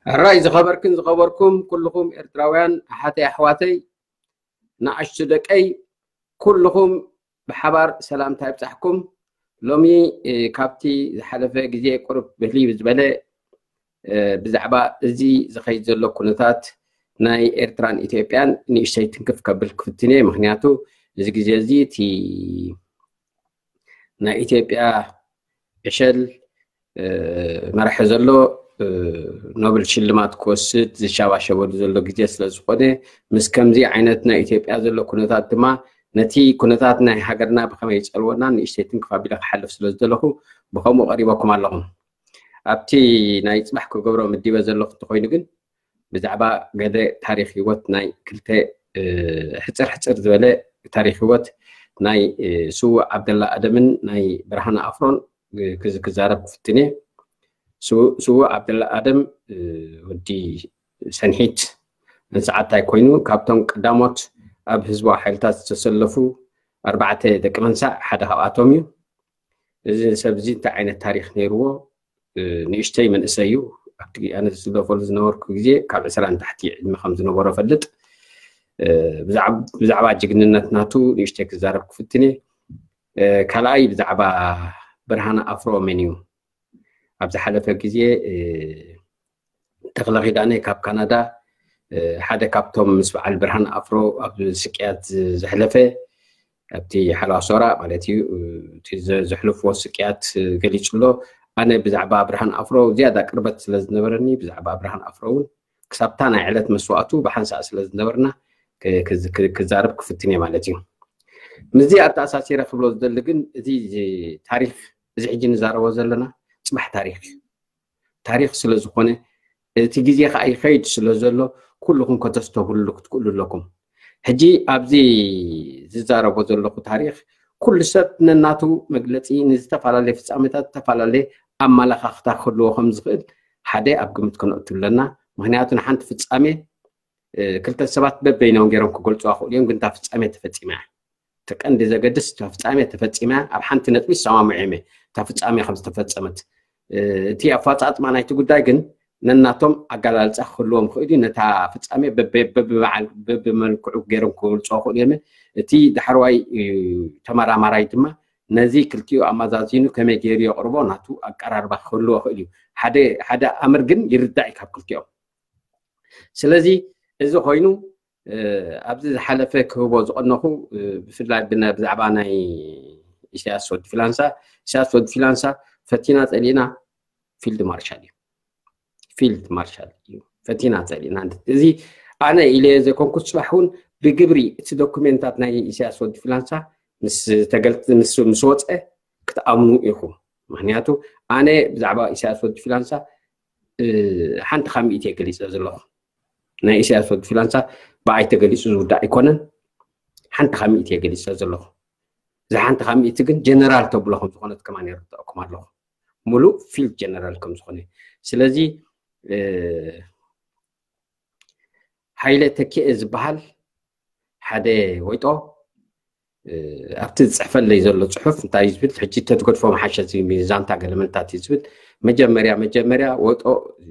ሕራይ ዝኸበርክን ዝኸበርኩም ኩልኹም ኤርትራውያን ኣሓተይ ኣሕዋተይ፣ ንኣሽቱ ደቀይ፣ ኩልኹም ብሓባር ሰላምታ ይብጻሕኩም። ሎሚ ካብቲ ዝሓለፈ ግዜ ቁሩብ ብህልይ ዝበለ ብዛዕባ እዚ ዝኸይድ ዘሎ ኩነታት ናይ ኤርትራን ኢትዮጵያን ንእሽተይ ትንክፍ ከብል ክፍትን እየ። ምክንያቱ እዚ ግዜ እዚ እቲ ናይ ኢትዮጵያ ዕሸል መራሒ ዘሎ ኖብል ሽልማት ክወስድ ዝሻባሸበሉ ዘሎ ግዜ ስለ ዝኾነ፣ ምስ ከምዚ ዓይነት ናይ ኢትዮጵያ ዘሎ ኩነታት ድማ ነቲ ኩነታት ናይ ሃገርና ብኸመይ ይጸልወና ንእሽተይ ትንክፍ ኣቢለ ክሓልፍ ስለ ዝደለኹ ብኸምኡ ቀሪበኩም ኣለኹም። ኣብቲ ናይ ጽባሕ ክገብሮ ምዲበ ዘለኹ እንተኾይኑ ግን ብዛዕባ ገለ ታሪኽ ህይወት ናይ ክልተ ሕጽር ሕጽር ዝበለ ታሪኽ ህይወት ናይ ስዉእ ዓብደላ ኣደምን ናይ ብርሃነ ኣፍሮን ክዛረብ ክፍትን እየ። ስዉእ ዓብደላ ኣደም ወዲ ሰንሒት ንሰዓታይ ኮይኑ ካብቶም ቀዳሞት ኣብ ህዝባዊ ሓይልታት ዝተሰለፉ ኣርባዕተ ደቂ መንሳዕ ሓደ ካብኣቶም እዩ። እዚ ሰብ እዚ እንታይ ዓይነት ታሪኽ ነይርዎ? ንእሽተይ መንእሰይ እዩ። ኣብቲ ኣነ ዝስለፈሉ ዝነበርኩ ግዜ ካብ ዕስራ ንታሕቲ ዕድመ ከም ዝነበሮ ፈልጥ። ብዛዕባ ጅግንነት ናቱ ንእሽተይ ክዛረብ ክፍትን እየ። ካልኣይ ብዛዕባ ብርሃነ ኣፍሮ መን እዩ? ኣብ ዝሓለፈ ግዜ ተኽለ ኪዳነ ካብ ካናዳ ሓደ ካብቶም ምስ በዓል ብርሃን ኣፍሮ ኣብ ስቅያት ዘሕለፈ ኣብቲ ሓለዋ ሶራ ማለት እዩ። ዘሕልፍዎ ስቅያት ገሊጹ ኣሎ። ኣነ ብዛዕባ ብርሃን ኣፍሮ ዝያዳ ቅርበት ስለ ዝነበረኒ ብዛዕባ ብርሃን ኣፍሮ እውን ክሳብታ ናይ ዕለት መስዋእቱ ብሓንሳእ ስለ ዝነበርና ክዛረብ ክፍትን እየ ማለት እዩ። ምስዚ ኣተኣሳሲረ ክብሎ ዝደሊ ግን እዚ ታሪክ እዚ ሕጂ ንዛረቦ ዘለና ፅባሕ ታሪክ እዩ። ታሪክ ስለ ዝኾነ እቲ ግዜ ከዓ ይኸይድ ስለ ዘሎ ኩልኹም ከተስተብህሉ ክትክእሉ ኣለኩም። ሕጂ ኣብዚ ዝዛረቦ ዘለኹ ታሪክ ኩሉ ሰብ ነናቱ መግለፂ ንዝተፈላለየ ፍፃመታት ዝተፈላለየ ኣመላኻኽታ ክህልዎ ከም ዝኽእል ሓደ ኣብ ግምት ከነእቱ ኣለና። ምክንያቱ ንሓንቲ ፍፃሜ ክልተ ሰባት በበይኖም ገይሮም ክገልፁ ክኽእሉ እዮም፣ ግን እታ ፍፃሜ ተፈፂማ እያ። እቲ ቀንዲ ዘገድስ እታ ፍፃሜ ተፈፂማ እያ። ኣብ ሓንቲ ነጥቢ ይሰማምዑ እዮም እታ ፍፃሜ ከም ዝተፈፀመት። እቲ ኣፈፃፅማ ናይቲ ጉዳይ ግን ነናቶም ኣገላልፃ ክህልዎም ክኽእል እዩ። ነታ ፍፃሜ በበመልክዑ ገይሮም ክገልፁ ክኽእሉ እዮም። እቲ ዳሕረዋይ ተመራማራይ ድማ ነዚ ክልቲኡ ኣመዛዚኑ ከመይ ገይሩ የቕርቦ ናቱ ኣቀራርባ ክህልዎ ክእል እዩ። ሓደ ኣምር ግን ይርዳእ እዩ ካብ ክልቲኦም። ስለዚ እዚ ኮይኑ ኣብዚ ዝሓለፈ ክህቦ ዝቐነኹ ብፍላይ ብዛዕባ ናይ ኢሳያስ ወዲ ፊላንሳ፣ ኢሳያስ ወዲ ፊላንሳ ፈቲና ጸሊእና ፊልድ ማርሻል እዩ። ፊልድ ማርሻል እዩ። ፈቲና ጸሊእና። እዚ ኣነ ኢለ ዘይኮንኩ፣ ጽባሕ እውን ብግብሪ እቲ ዶኩሜንታት ናይ ኢሳያስ ወዲ ፊላንሳ ምስ ተገልጽ ምስ ምስ ወጸ ክትኣምኑ ኢኹም። ምክንያቱ ኣነ ብዛዕባ ኢሳያስ ወዲ ፊላንሳ ሓንቲ ካብ ሚእቲ እየ ገሊጸ ዘለኹ። ናይ ኢሳያስ ወዲ ፊላንሳ ብኣይ ተገሊጹ ዝውዳእ ኣይኮነን። ሓንቲ ካብ ሚእቲ እየ ገሊጸ ዘለኹ። እዛ ሓንቲ ካብ ሚእቲ ግን ጀነራል ተብሎ ከም ዝኾነት ከማን የረድኣኩም ኣለኹ። ሙሉእ ፊልድ ጀነራል ከም ዝኾነ። ስለዚ ሓይለ ተኪኤ ዝበሃል ሓደ ወይጦ ኣብቲ ዝፅሕፈለይ ዘሎ ፅሑፍ እንታይ እዩ ዝብል፣ ሕጂ ተትገድፎ መሓሸ፣ እዚ ዛንታ ገለመልታት እዩ ዝብል። መጀመርያ መጀመርያ ወይጦ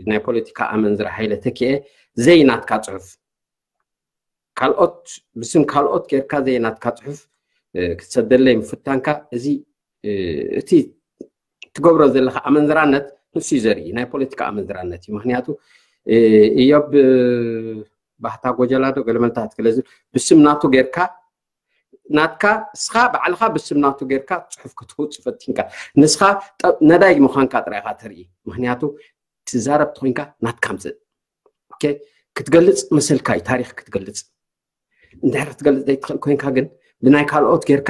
ናይ ፖለቲካ ኣመንዝራ ሓይለ ተኪኤ ዘይናትካ ፅሑፍ ካልኦት ብስም ካልኦት ጌርካ ዘይናትካ ፅሑፍ ክትሰደለይ ምፍታንካ፣ እዚ እቲ ትገብሮ ዘለካ ኣመንዝራነት ንሱ እዩ ዘርኢ፣ ናይ ፖለቲካ ኣመንዝራነት እዩ። ምክንያቱ እዮብ ባህታ ጎጀላዶ ገለመልታት ክለዚ ብስም ናቱ ጌርካ ናትካ እስኻ ባዕልኻ ብስም ናቱ ጌርካ ፅሑፍ ክትውፅ ፈቲንካ፣ ንስኻ ነዳይ ምዃንካ ጥራይኻ ተርኢ። ምክንያቱ ትዛረብ ተኮይንካ ናትካ ምፅእ ክትገልፅ መሰልካ እዩ። ታሪክ ክትገልፅ እንድሕር ክትገልፅ ዘይትኽእል ኮይንካ ግን ብናይ ካልኦት ጌርካ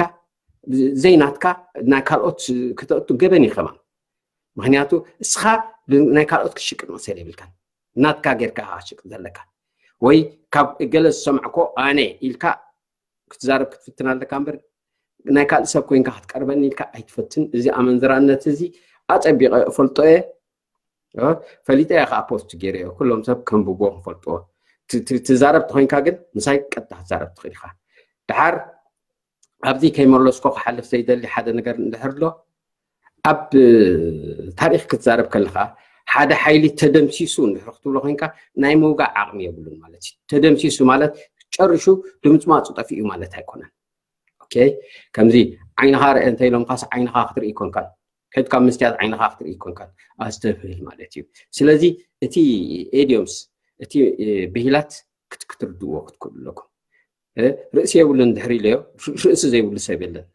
ዘይናትካ ናይ ካልኦት ክተእቱ ገበን እዩ ከማን። ምክንያቱ እስኻ ናይ ካልኦት ክሽቅጥ መሰል የብልካን። ናትካ ጌርካ ክትሽቅጥ ዘለካ ወይ ካብ ገለ ዝሰምዕኮ ኣነ ኢልካ ክትዛረብ ክትፍትን ኣለካ እምበር ናይ ካልእ ሰብ ኮይንካ ክትቀርበኒ ኢልካ ኣይትፈትን። እዚ ኣመንዝራነት እዚ ኣፀቢቐ እፈልጦ እየ። ፈሊጠ እየ ከዓ ፖስት ገይረ እየ። ኩሎም ሰብ ከንብቦ ክፈልጥዎ። ትዛረብ ተኮይንካ ግን ምሳይ ቀጥታ ክትዛረብ ትኽእል ኢኻ። ድሓር ኣብዚ ከይመለስኮ ክሓልፍ ዘይደሊ ሓደ ነገር እንድሕር ኣሎ፣ ኣብ ታሪክ ክትዛረብ ከለካ ሓደ ሓይሊ ተደምሲሱ እንድሕር ክትብሎ ኮይንካ ናይ ምውጋእ ዓቕሚ የብሉን ማለት እዩ። ተደምሲሱ ማለት ጨርሹ ድምፅማፁ ጠፊኡ ማለት ኣይኮነን። ኦኬ፣ ከምዚ ዓይንኻ ርአ እንተ ኢሎምካስ ዓይንኻ ክትርኢ ይኮንካን፣ ከድካ መስትያት ዓይንኻ ክትርኢ ይኮንካን ኣስተብህል ማለት እዩ። ስለዚ እቲ ኤዲዮምስ እቲ ብሂላት ክትርድዎ ክትክእሉ ኣለኩም። ርእሲ የብሉን ድሕሪ ኢለዮ፣ ርእሲ ዘይብሉ ሰብ የለን።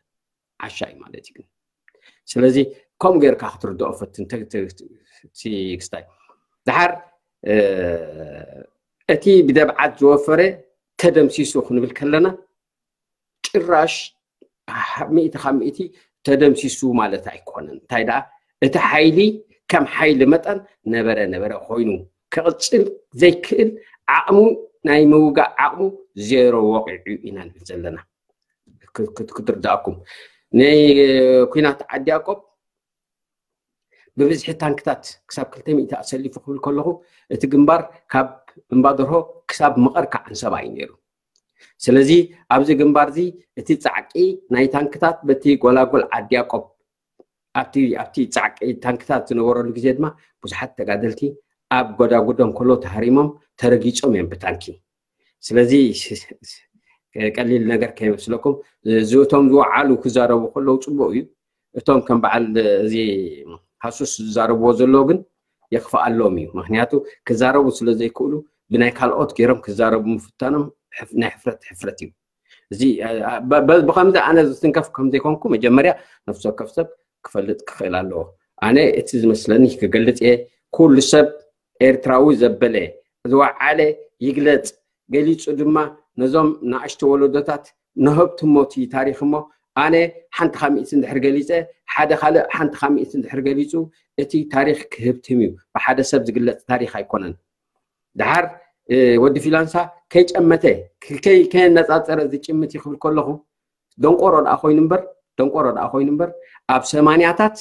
ዓሻ እዩ ማለት እዩ። ስለዚ ከምኡ ጌርካ ክትርድኦ ፈትን ክስታይ። ድሓር እቲ ብደብዓት ዝወፈረ ተደምሲሱ ክንብል ከለና ጭራሽ ሚእቲ ካብ ሚእቲ ተደምሲሱ ማለት ኣይኮነን። እንታይ ደኣ እቲ ሓይሊ ከም ሓይሊ መጠን ነበረ ነበረ ኮይኑ ክቕፅል ዘይክእል ዓቕሙ ናይ ምውጋእ ዓቕሙ ዜሮ ወቂዑ ኢና ንብል ዘለና። ክትርዳእኩም ናይ ኩናት ዓዲ ያቆብ ብብዝሒ ታንክታት ክሳብ ክልተ ሚእቲ ኣሰሊፉ ክብል ከለኹ እቲ ግንባር ካብ እምባደርሆ ክሳብ መቐር ከዓንሰባ እዩ ነይሩ። ስለዚ ኣብዚ ግንባር እዚ እቲ ፃዕቂ ናይ ታንክታት በቲ ጎላጎል ዓዲ ያቆብ ኣብቲ ኣብቲ ፃዕቂ ታንክታት ዝነበረሉ ግዜ ድማ ብዙሓት ተጋደልቲ ኣብ ጎዳጉዶም ከሎ ተሃሪሞም ተረጊፆም እዮም ብታንኪ። ስለዚ ቀሊል ነገር ከይመስለኩም፣ እቶም ዝወዓሉ ክዛረቡ ከለዉ ፅቡቅ እዩ። እቶም ከም በዓል እዚ ሃሱስ ዝዛረብዎ ዘለዉ ግን የኽፍኣሎም እዩ። ምክንያቱ ክዛረቡ ስለ ዘይክእሉ ብናይ ካልኦት ገይሮም ክዛረቡ ምፍታኖም ናይ ሕፍረት ሕፍረት እዩ። እዚ ብከምዚ ኣነ ዝትንከፍ ከምዘይኮንኩ መጀመርያ ነፍሲ ወከፍ ሰብ ክፈልጥ ክኽእል ኣለዎ። ኣነ እቲ ዝመስለኒ ክገልፅ እየ። ኩሉ ሰብ ኤርትራዊ ዘበለ ዝወዓለ ይግለፅ፣ ገሊፁ ድማ ነዞም ንኣሽቱ ወለዶታት ንህብትሞ እቲ ታሪኽ እሞ ኣነ ሓንቲ ካብ ሚእቲ እንድሕር ገሊፀ ሓደ ካልእ ሓንቲ ካብ ሚእቲ እንድሕር ገሊፁ እቲ ታሪኽ ክህብትም እዩ። ብሓደ ሰብ ዝግለፅ ታሪኽ ኣይኮነን። ድሓር ወዲ ፊላንሳ ከይጨመተ ከየነፃፀረ ዝጭምት እዩ ክብል ከለኹ ደንቆሮ ደኣ ኮይኑ እምበር ደንቆሮ ደኣ ኮይኑ እምበር ኣብ ሰማንያታት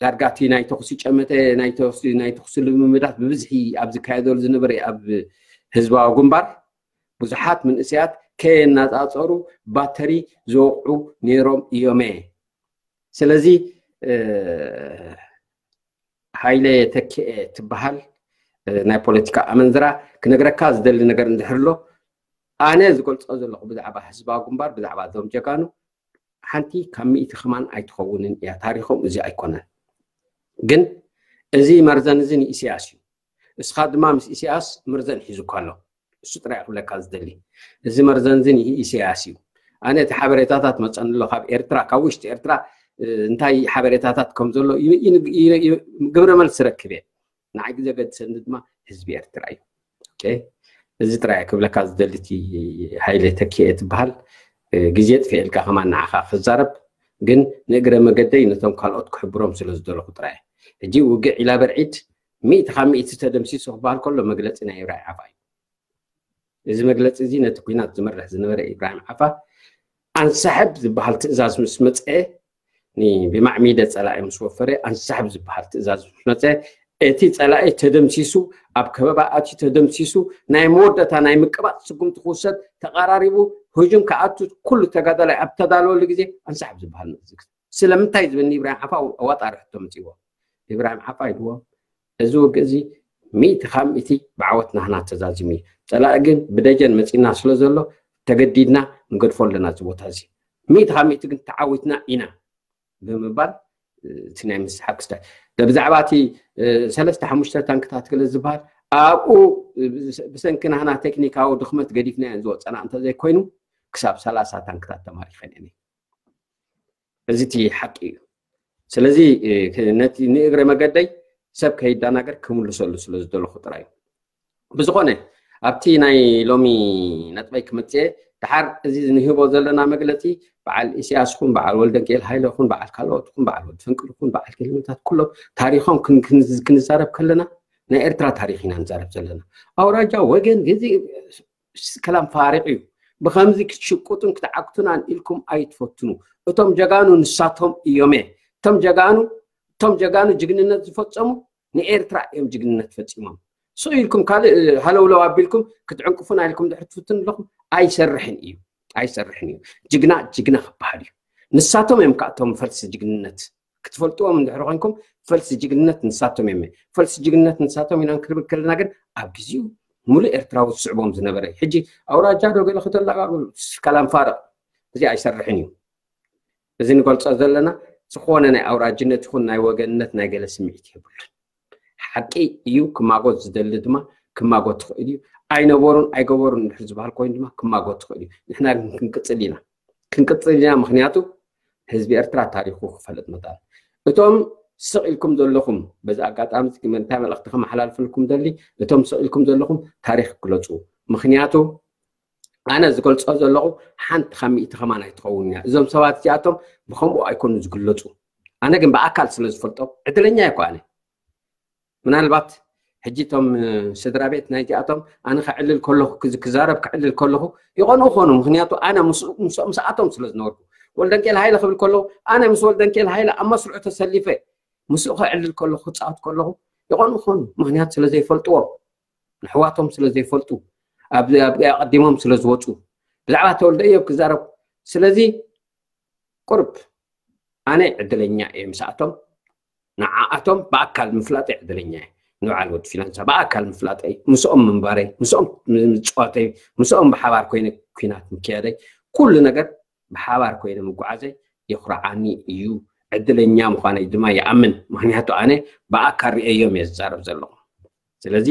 ዳርጋ እቲ ናይ ተኹሲ ጨመተ ናይ ተኹሲ ናይ ተኹሲ ልምምዳት ብብዝሒ ኣብ ዝካየደሉ ዝነበረ ኣብ ህዝባዊ ግንባር ብዙሓት መንእሰያት ከየናፃፀሩ ባተሪ ዝወቕዑ ነይሮም እዮመ። ስለዚ ሃይለ ተክኤ ትበሃል ናይ ፖለቲካ ኣመንዝራ ክነግረካ ዝደሊ ነገር እንድሕር ኣሎ ኣነ ዝገልፆ ዘለኹ ብዛዕባ ህዝባዊ ግንባር ብዛዕባ እዞም ጀጋኑ ሓንቲ ካብ ሚእቲ ከማን ኣይትኸውንን እያ። ታሪኾም እዚ ኣይኮነን። ግን እዚ መርዘን እዚ ንኢሳያስ እዩ። እስኻ ድማ ምስ ኢሳያስ መርዘን ሒዙካ ኣሎ። እሱ ጥራይ ክብለካ ዝደሊ እዚ መርዘን እዚ ንኢሳያስ እዩ። ኣነ እቲ ሓበሬታታት መፀኒ ኣሎ ካብ ኤርትራ ካብ ውሽጢ ኤርትራ እንታይ ሓበሬታታት ከም ዘሎ ግብረ መልስ ረክብ እየ። ንዓይ ግዜ ገድሰኒ ድማ ህዝቢ ኤርትራ እዩ። እዚ ጥራይ ክብለካ ዝደሊ እቲ ሃይለ ተኪኤ ትበሃል ግዜ ጥፊኤልካ ከማን ንዓኻ ክዛረብ ግን ንእግረ መገደይ ነቶም ካልኦት ክሕብሮም ስለ ዝደለኹ ጥራይ። ሕጂ ውግዕ ኢላ በርዒድ ሚእቲ ካብ ሚእቲ ተደምሲሱ ክበሃል ከሎ መግለፂ ናይ ኢብራሂም ዓፋ እዩ። እዚ መግለፂ እዚ ነቲ ኩናት ዝመርሕ ዝነበረ ኢብራሂም ዓፋ ኣንሳሕብ ዝበሃል ትእዛዝ ምስ መፀ ብማዕሚደ ፀላኢ ምስ ወፈረ ኣንሳሕብ ዝበሃል ትእዛዝ ምስ መፀ እቲ ፀላኢ ተደምሲሱ ኣብ ከበባ ኣትዩ ተደምሲሱ ናይ መወዳእታ ናይ ምቅባፅ ስጉምቲ ክውሰድ ተቐራሪቡ ህጁም ክኣቱ ኩሉ ተጋዳላይ ኣብ ተዳለወሉ ግዜ ኣንሳሕብ ዝበሃል መእዝግ ስለምንታይ ዝብል ንኢብራሂም ዓፋ ኣዋጣሪ ሕቶ መፅዎ ኢብራሂም ዓፋ ኢልዎ እዚ ውግእ እዚ ሚእቲ ካብ ሚእቲ ብዓወት ናህና ተዛዚሙ እዩ ፀላኢ ግን ብደጀን መፂና ስለ ዘሎ ተገዲድና ንገድፎ ኣለና እዚ ቦታ እዚ ሚእቲ ካብ ሚእቲ ግን ተዓዊትና ኢና ብምባል እቲ ናይ ምስሓብ ክስታይ ብዛዕባ እቲ ሰለስተ ሓሙሽተ ታንክታት ገለ ዝበሃል ኣብኡ ብሰንኪ ናህና ቴክኒካዊ ድኽመት ገዲፍናዮ ዝወፀና እንተዘይኮይኑ ክሳብ ሰላሳ ታንክታት ተማሪኸን እየን እዚ እቲ ሓቂ እዩ ስለዚ ነቲ ንእግረ መገደይ ሰብ ከይዳናገር ክምልሰሉ ስለ ዝደለኹ ጥራይ እዩ ብዝኾነ ኣብቲ ናይ ሎሚ ነጥበይ ክመፅእ ድሓር እዚ ንህቦ ዘለና መግለፂ በዓል ኢሳያስ ኹን በዓል ወልደንቅኤል ሃይለ ኹን በዓል ካልኦት ኹን በዓል ወዲ ፈንቅል ኹን በዓል ክልምታት ኩሎም ታሪኾም ክንዛረብ ከለና ናይ ኤርትራ ታሪኽ ኢና ንዛረብ ዘለና ኣውራጃ ወገን ግዜ ከላም ፋሪቕ እዩ ብኸምዚ ክትሽቁጡን ክትዓግቱናን ኢልኩም ኣይትፈትኑ እቶም ጀጋኑ ንሳቶም እዮመ እቶም ጀጋኑ እቶም ጀጋኑ ጅግንነት ዝፈጸሙ ንኤርትራ እዮም ጅግንነት ፈጺሞም ስቕ ኢልኩም ካልእ ሃለውለው ኣቢልኩም ክትዕንቅፉና ኢልኩም ድሕር ትፍትን ኣለኹም ኣይሰርሕን እዩ ኣይሰርሕን እዩ ጅግና ጅግና ክበሃል እዩ ንሳቶም እዮም ከኣቶም ፈልሲ ጅግንነት ክትፈልጥዎም እንድሕር ኮይንኩም፣ ፈልሲ ጅግንነት ንሳቶም እዮም። ፈልሲ ጅግንነት ንሳቶም ኢና ክንብል ከለና ግን ኣብ ግዜኡ ሙሉእ ኤርትራዊ ዝስዕቦም ዝነበረ። ሕጂ ኣውራጃ ዶ ገለ ከተላጋግሉ፣ ከላም ፋርቕ፣ እዚ ኣይሰርሕን እዩ። እዚ ንገልጾ ዘለና ዝኾነ ናይ ኣውራጅነት ይኹን ናይ ወገንነት ናይ ገለ ስምዒት የብሉን። ሓቂ እዩ። ክማጎት ዝደሊ ድማ ክማጎት ትኽእል እዩ። ኣይነበሩን ኣይገበሩን እንድሕር ዝበሃል ኮይኑ ድማ ክማጎት ትኽእል እዩ። ንሕና ግን ክንቅጽል ኢና፣ ክንቅጽል ኢና። ምኽንያቱ ህዝቢ ኤርትራ ታሪኹ ክፈልጥ መጣን። እቶም ስቕ ኢልኩም ዘለኹም፣ በዚ ኣጋጣሚ እዚ እንታይ መልእኽቲ ከመሓላልፈልኩም ደሊ፣ እቶም ስቕ ኢልኩም ዘለኹም ታሪኽ ግለጹ። ምኽንያቱ ኣነ ዝገልጾ ዘለኹ ሓንቲ ካብ ሚእቲ ከማን ኣይትኸውን እያ። እዞም ሰባት እዚኣቶም ብኸምኡ ኣይኮኑ ዝግለጹ። ኣነ ግን ብኣካል ስለ ዝፈልጦም ዕድለኛ እኮ ኣነ። ምናልባት ሕጂ እቶም ስድራ ቤት ናይዚኣቶም ኣነ ከዕልል ከለኹ ክዝ- ክዛረብ ከዕልል ከለኹ ይቐንኡ ኾኑ። ምኽንያቱ ኣነ ምስ- ምስ- ምስኣቶም ስለ ዝነበርኩ፣ ወልደንኬል ሃይለ ክብል ከለኹ ኣነ ምስ ወልደንኬል ሃይለ ኣብ መስርዑ ተሰሊፈ ምስኡ ከዕልል ከለኹ ክፃወት ከለኹ ይቐንኡ ኾኑ። ምኽንያቱ ስለ ዘይፈልጥዎም፣ ንሕዋቶም ስለ ዘይፈልጡ፣ ኣብ ኣብ- ኣቐዲሞም ስለ ዝወፁ፣ ብዛዕባ ተወልደ እዮብ ክዛረብ። ስለዚ ቁርብ ኣነ ዕድለኛ እየ ምስኣቶም። ንዓኣቶም ብኣካል ምፍላጠይ ዕድለኛ እየ። ንበዓል ወዲ ፊናንሳ ብኣካል ምፍላጠይ፣ ምስኦም ምንባረይ፣ ምስኦም ምፅዋተይ፣ ምስኦም ብሓባር ኮይነ ኲናት ምክያደይ፣ ኩሉ ነገር ብሓባር ኮይነ ምጉዓዘይ የኹርዓኒ እዩ። ዕድለኛ ምዃነይ ድማ ይኣምን። ምኽንያቱ ኣነ ብኣካል ርእየዮም እየ ዝዛረብ ዘለኹ። ስለዚ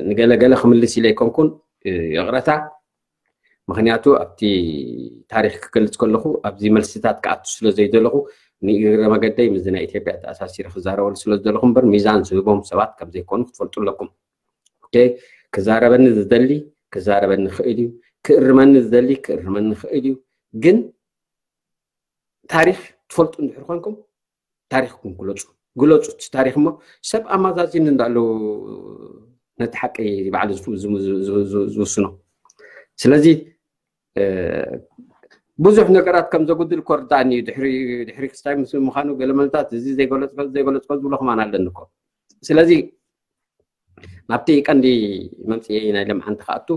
ንገለገለ ክምልስ ኢለ ኣይኮንኩን፣ ይቕረታ። ምኽንያቱ ኣብቲ ታሪኽ ክገልጽ ከለኹ ኣብዚ መልስታት ክኣቱ ስለ ዘይደለኹ ንእግረ መገደይ ምስዚ ናይ ኢትዮጵያ ተኣሳሲረ ክዛረበሉ ስለ ዝደለኹ እምበር ሚዛን ዝህቦም ሰባት ከም ዘይኮኑ ክትፈልጡ ኣለኩም። ኦኬ፣ ክዛረበኒ ዝደሊ ክዛረበኒ ክእል እዩ፣ ክእርመኒ ዝደሊ ክእርመኒ ክእል እዩ። ግን ታሪኽ ትፈልጡ እንድሕር ኮንኩም ታሪኽኩም ግለፁ። ግለፁ እቲ ታሪኽ እሞ ሰብ ኣማዛዚን እንዳለዉ ነቲ ሓቂ ባዕሉ ዝፍ- ዝም- ዝ- ዝ- ዝ- ዝውስኖ። ስለዚ እ፣ ብዙሕ ነገራት ከም ዘጉድል እኮ ርዳእኒ እዩ። ድሕሪ ድሕሪ ክስታይ ምስ ምዃኑ ገለ መልታት እዚ ዘይገለፅኮ ዘይገለፅኮ ዝብሎ ከማን ኣለኒ እኮ። ስለዚ ናብቲ ቀንዲ መምፅኤ ናይ ለምዓንቲ ክኣቱ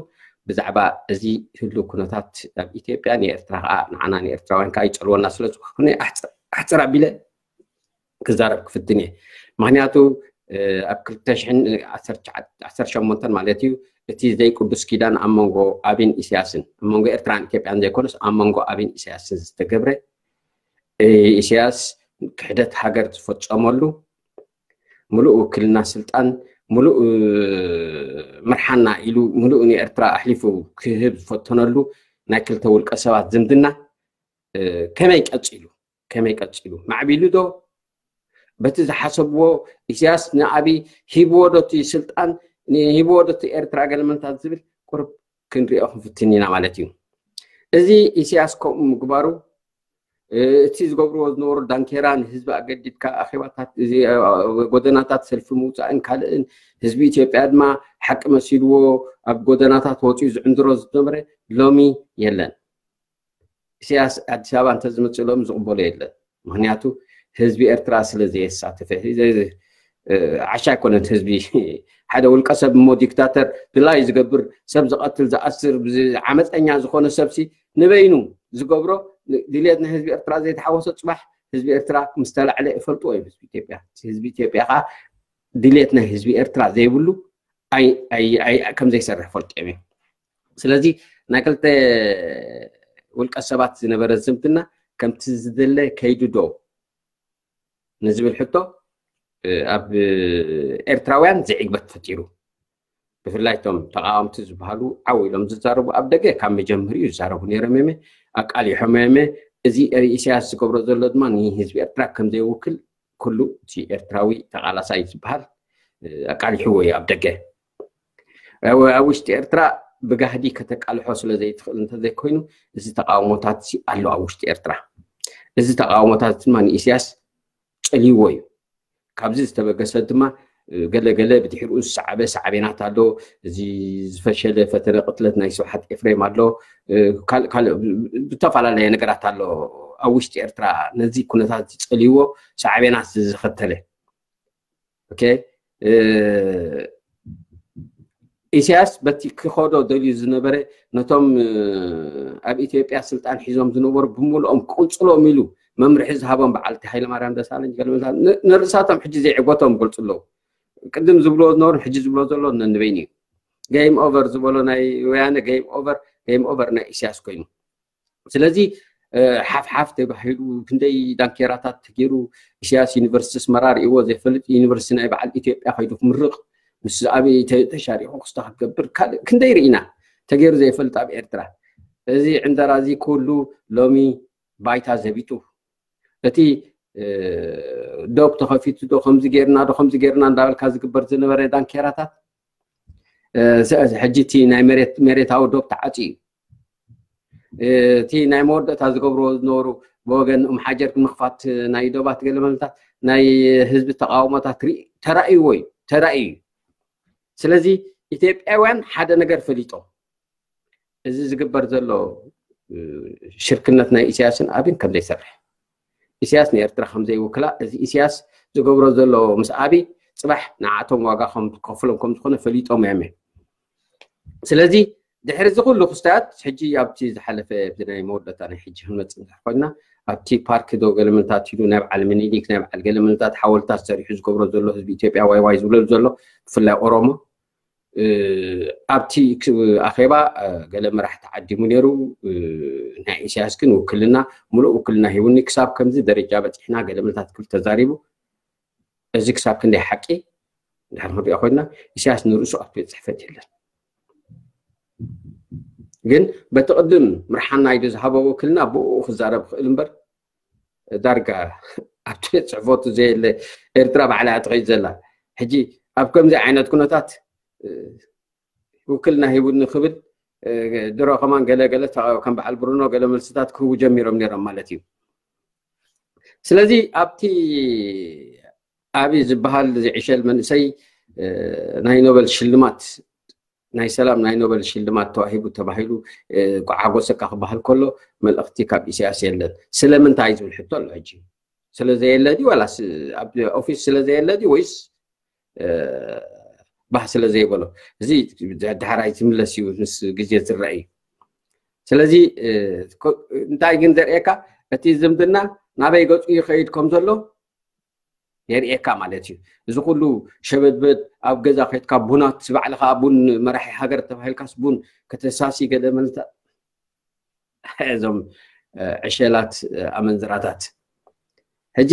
ብዛዕባ እዚ ህሉ ኩነታት ኣብ ኢትዮጵያ ንኤርትራ ከዓ ንዓና ንኤርትራውያን ከዓ ይፀልወና ስለ ዝኾነ ኣሕፅር ኣሕፅር ኣቢለ ክዛረብ ክፍትን እየ። ምክንያቱ ኣብ ክልተ ሽሕን ዓሰርተ ሸሞንተን ማለት እዩ እቲ ዘይቅዱስ ኪዳን ኣብ መንጎ ኣብን ኢሳያስን ኣብ መንጎ ኤርትራን ኢትዮጵያን ዘይኮነስ ኣብ መንጎ ኣብን ኢሳያስን ዝተገብረ ኢሳያስ ክሕደት ሃገር ዝፈጸመሉ ሙሉእ ውክልና ስልጣን ሙሉእ ምርሓና ኢሉ ሙሉእ ንኤርትራ ኣሕሊፉ ክህብ ዝፈተነሉ ናይ ክልተ ውልቀ ሰባት ዝምድና ከመይ ቀጺሉ ከመይ ቀጺሉ ማዕቢሉ ዶ በቲ ዝሓሰብዎ ኢሳያስ ንኣብይ ሂብዎ ዶ እቲ ስልጣን ሂብዎ ዶ እቲ ኤርትራ ገለመንታት ዝብል ቁርብ ክንሪኦ ክንፍትን ኢና ማለት እዩ። እዚ ኢሳያስ ከምኡ ምግባሩ እቲ ዝገብርዎ ዝነበሩ ዳንኬራ ንህዝቢ ኣገዲድካ ኣኼባታት ጎደናታት ሰልፊ ምውፃእን ካልእን ህዝቢ ኢትዮጵያ ድማ ሓቂ መሲልዎ ኣብ ጎደናታት ወፂኡ ዝዕንድሮ ዝነበረ ሎሚ የለን። ኢሳያስ ኣዲስ ኣበባ እንተዝመፅእ ሎሚ ዝቕበሎ የለን። ምክንያቱ ህዝቢ ኤርትራ ስለ ዘየሳተፈ ዓሻ ኣይኮነን ህዝቢ ሓደ ውልቀ ሰብ እሞ ዲክታተር ድላይ ዝገብር ሰብ ዝቐትል ዝኣስር ዓመፀኛ ዝኾነ ሰብሲ ንበይኑ ዝገብሮ ድልየት ናይ ህዝቢ ኤርትራ ዘይተሓወሶ ፅባሕ ህዝቢ ኤርትራ ምስ ተላዕለ ይፈልጥዎ እዮም ህዝቢ ኢትዮጵያ ህዝቢ ኢትዮጵያ ከዓ ድልየት ናይ ህዝቢ ኤርትራ ዘይብሉ ከም ዘይሰርሕ ፈልጥዮም እዮም ስለዚ ናይ ክልተ ውልቀ ሰባት ዝነበረ ዝምድና ከምቲ ዝድለ ከይዱ ዶ ንዝብል ሕቶ ኣብ ኤርትራውያን ዘይዕግበት ፈጢሩ ብፍላይ ቶም ተቃወምቲ ዝበሃሉ ዓው ኢሎም ዝዛረቡ ኣብ ደገ ካብ መጀመሪኡ ይዛረቡ ነይሮም የመ ኣቃሊሖም የመ እዚ ኢሳያስ ዝገብሮ ዘሎ ድማ ንህዝቢ ኤርትራ ከም ዘይውክል ኩሉ እቲ ኤርትራዊ ተቃላሳይ ዝበሃል ኣቃሊሕዎ እዩ ኣብ ደገ ኣብ ውሽጢ ኤርትራ ብጋህዲ ከተቃልሖ ስለ ዘይትኽእል እንተዘይኮይኑ እዚ ተቃውሞታት ኣሎ ኣብ ውሽጢ ኤርትራ እዚ ተቃውሞታት ድማ ንኢሳያስ ጸልይዎ እዩ ካብዚ ዝተበገሰ ድማ ገለገለ ብድሕሪኡ ዝሰዓበ ሳዕቤናት ኣሎ እዚ ዝፈሸለ ፈተነ ቅትለት ናይ ስብሓት ኤፍሬም ኣሎ ካልእ ብዝተፈላለየ ነገራት ኣሎ ኣብ ውሽጢ ኤርትራ ነዚ ኩነታት ዝጸልይዎ ሳዕቤናት ዝኸተለ ኢሳያስ በቲ ክኸዶ ደልዩ ዝነበረ ነቶም ኣብ ኢትዮጵያ ስልጣን ሒዞም ዝነበሩ ብምልኦም ክቅንፅሎም ኢሉ መምርሒ ዝሃቦም በዓልቲ ሃይለማርያም ደሳለኝ ገለመልታት ንርእሳቶም ሕጂ ዘይዕገቶም ይገልፁ ኣለዉ። ቅድም ዝብልዎ ዝነበሩ ሕጂ ዝብሎ ዘሎ ነንበይኑ እዩ። ገይም ኦቨር ዝበሎ ናይ ወያነ ገይም ኦቨር ገይም ኦቨር ናይ ኢሳያስ ኮይኑ ስለዚ ሓፍሓፍ ተባሂሉ ክንደይ ዳንኬራታት ተገይሩ ኢሳያስ ዩኒቨርሲቲ ኣስመራ ርእይዎ ዘይፈልጥ ዩኒቨርሲቲ ናይ በዓል ኢትዮጵያ ከይዱ ክምርቕ ምስ ኣበይ ተሻሪኹ ክስታ ክትገብር ካልእ ክንደይ ርኢና ተገይሩ ዘይፈልጥ ኣብ ኤርትራ እዚ ዕንደራ እዚ ኩሉ ሎሚ ባይታ ዘቢጡ እቲ ዶብ ተኸፊቱ ዶ ከምዚ ጌርና ዶ ከምዚ ጌርና እንዳበልካ ዝግበር ዝነበረ ዳንኬራታት ሕጂ እቲ ናይ መሬታዊ ዶብ ተዓፂ እዩ እቲ ናይ መወዳእታ ዝገብርዎ ዝነበሩ ብወገን ኡም ሓጀር ምኽፋት ናይ ዶባት ገለመለታት ናይ ህዝቢ ተቃውሞታት ተራእይዎ እዩ ተራእዩ እዩ ስለዚ ኢትዮጵያውያን ሓደ ነገር ፈሊጦም እዚ ዝግበር ዘሎ ሽርክነት ናይ ኢሳያስን ኣብን ከም ዘይሰርሕ ኢሳያስ ንኤርትራ ከም ዘይውክላ እዚ ኢሳያስ ዝገብሮ ዘሎ ምስ ኣቢ ፅባሕ ንዓቶም ዋጋ ከም ዝከፍሎም ከም ዝኾነ ፈሊጦም እዮም ስለዚ ድሕሪ እዚ ኩሉ ክስታት ሕጂ ኣብቲ ዝሓለፈ ናይ መወዳእታ ናይ ሕጂ ክንመፅእ እንድሕር ኮይና ኣብቲ ፓርክ ዶ ገለመንታት ኢሉ ናይ በዓል ምኒሊክ ናይ በዓል ገለመንታት ሓወልታት ሰሪሑ ዝገብሮ ዘሎ ህዝቢ ኢትዮጵያ ዋይ ዋይ ዝብለሉ ዘሎ ብፍላይ ኦሮሞ ኣብቲ ኣኼባ ገለ መራሕቲ ዓዲሙ ነይሩ ናይ ኢሳያስ ግን ውክልና ሙሉእ ውክልና ሂቡኒ ክሳብ ከምዚ ደረጃ በፂሕና ገለ ምልታት ክብል ተዛሪቡ እዚ ክሳብ ክንደይ ሓቂ ድሕር ክንሪኦ ኮይና ኢሳያስ ንርእሱ ኣብቲ ቤት ፅሕፈት የለን ግን በቲ ቅድም ምርሓና ኢሉ ዝሃቦ ውክልና ብኡ ክዛረብ ክእል እምበር ዳርጋ ኣብቲ ቤት ፅሕፈቱ ዘየለ ኤርትራ ባዕላ እያ ትኸይድ ዘላ ሕጂ ኣብ ከምዚ ዓይነት ኩነታት ውክልና ሂቡኒ ክብል ድሮ ከማን ገለገለ ከም በዓል ብሩኖ ገለ መልስታት ክህቡ ጀሚሮም ነይሮም ማለት እዩ ስለዚ ኣብቲ ኣቢ ዝበሃል ዝዕሸል መንእሰይ ናይ ኖበል ሽልማት ናይ ሰላም ናይ ኖበል ሽልማት ተዋሂቡ ተባሂሉ ቋዓጎሰካ ክበሃል ከሎ መልእኽቲ ካብ ኢሳያስ የለን ስለምንታይ ዝብል ሕቶ ኣሎ ሕጂ ስለዘየለ ድዩ ዋላስ ኣብ ኦፊስ ስለዘየለ ድዩ ወይስ ባህ ስለዘይበሎ እዚ ዳሕራይ ዝምለስ እዩ ምስ ግዜ ዝረአ እዩ ስለዚ እንታይ ግን ዘርእየካ እቲ ዝምድና ናበይ ገፁ ይኸይድ ከም ዘሎ የርእየካ ማለት እዩ እዚ ኩሉ ሸበድበድ ኣብ ገዛ ከድካ ቡናት ባዕልካ ቡን መራሒ ሃገር ተባሂልካስ ቡን ከተሳሲ ገለ መልታ እዞም ዕሸላት ኣመንዝራታት ሕጂ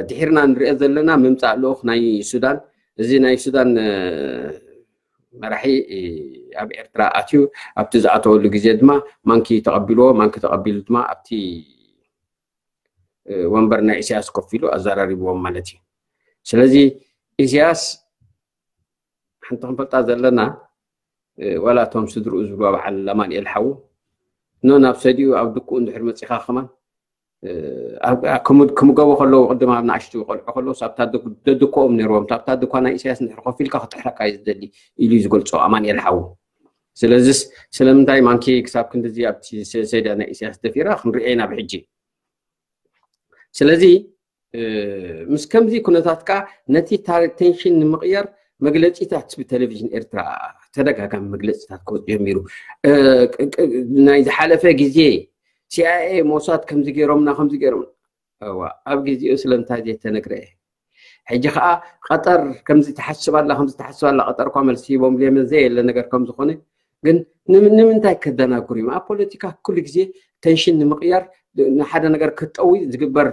ድሒርና ንሪኦ ዘለና ምምፃእ ልኡክ ናይ ሱዳን እዚ ናይ ሱዳን መራሒ ኣብ ኤርትራ ኣትዩ ኣብቲ ዝኣተወሉ ግዜ ድማ ማንኪ ተቐቢልዎ ማንኪ ተቐቢሉ ድማ ኣብቲ ወንበር ናይ ኢሳያስ ኮፍ ኢሉ ኣዘራሪብዎም ማለት እዩ ስለዚ ኢሳያስ ሓንቲ ክንፈልጣ ዘለና ዋላ እቶም ስድርኡ ዝብሉ በዓል ኣማንኤል ሓዉ ኖ ናብ ሰዲኡ ኣብ ድኩኡ እንድሕር መፂኻ ከማን ክምገቡ ከለዉ ቅድም ኣብ ንኣሽቱ ቆልዑ ከለዉ ኣብታ ደድኮኦም ነይርዎም ኣብታ ድኳ ናይ ኢሳያስ እንድሕር ኮፍ ኢልካ ክጥሕረካ እዩ ዝደሊ ኢሉ እዩ ዝገልፆ ኣማንኤል ሓዉ ስለዚስ ስለምንታይ ማንኪ ክሳብ ክንድዚ ኣብቲ ሰዲያ ናይ ኢሳያስ ደፊራ ክንሪኦ ኢና ብሕጂ ስለዚ ምስ ከምዚ ኩነታት ከዓ ነቲ ቴንሽን ንምቕያር መግለፂታት ብቴሌቪዥን ኤርትራ ተደጋጋሚ መግለፂታት ክወፅ ጀሚሩ ናይ ዝሓለፈ ግዜ ሲኣይኤ ሞሳድ ከምዚ ገይሮምና ከምዚ ገይሮም ኣብ ግዜኡ ስለምንታይ ዘይተነግረ ሕጂ ከዓ ቀጠር ከምዚ ትሓስብ ኣላ ከምዚ ትሓስብ ኣላ ቀጠር እኳ መልሲ ሂቦም ዘየለ ነገር ከም ዝኾነ ግን ንምንታይ ከደናግሩ እዮም ኣብ ፖለቲካ ኩሉ ግዜ ቴንሽን ንምቕያር ንሓደ ነገር ክጠዊ ዝግበር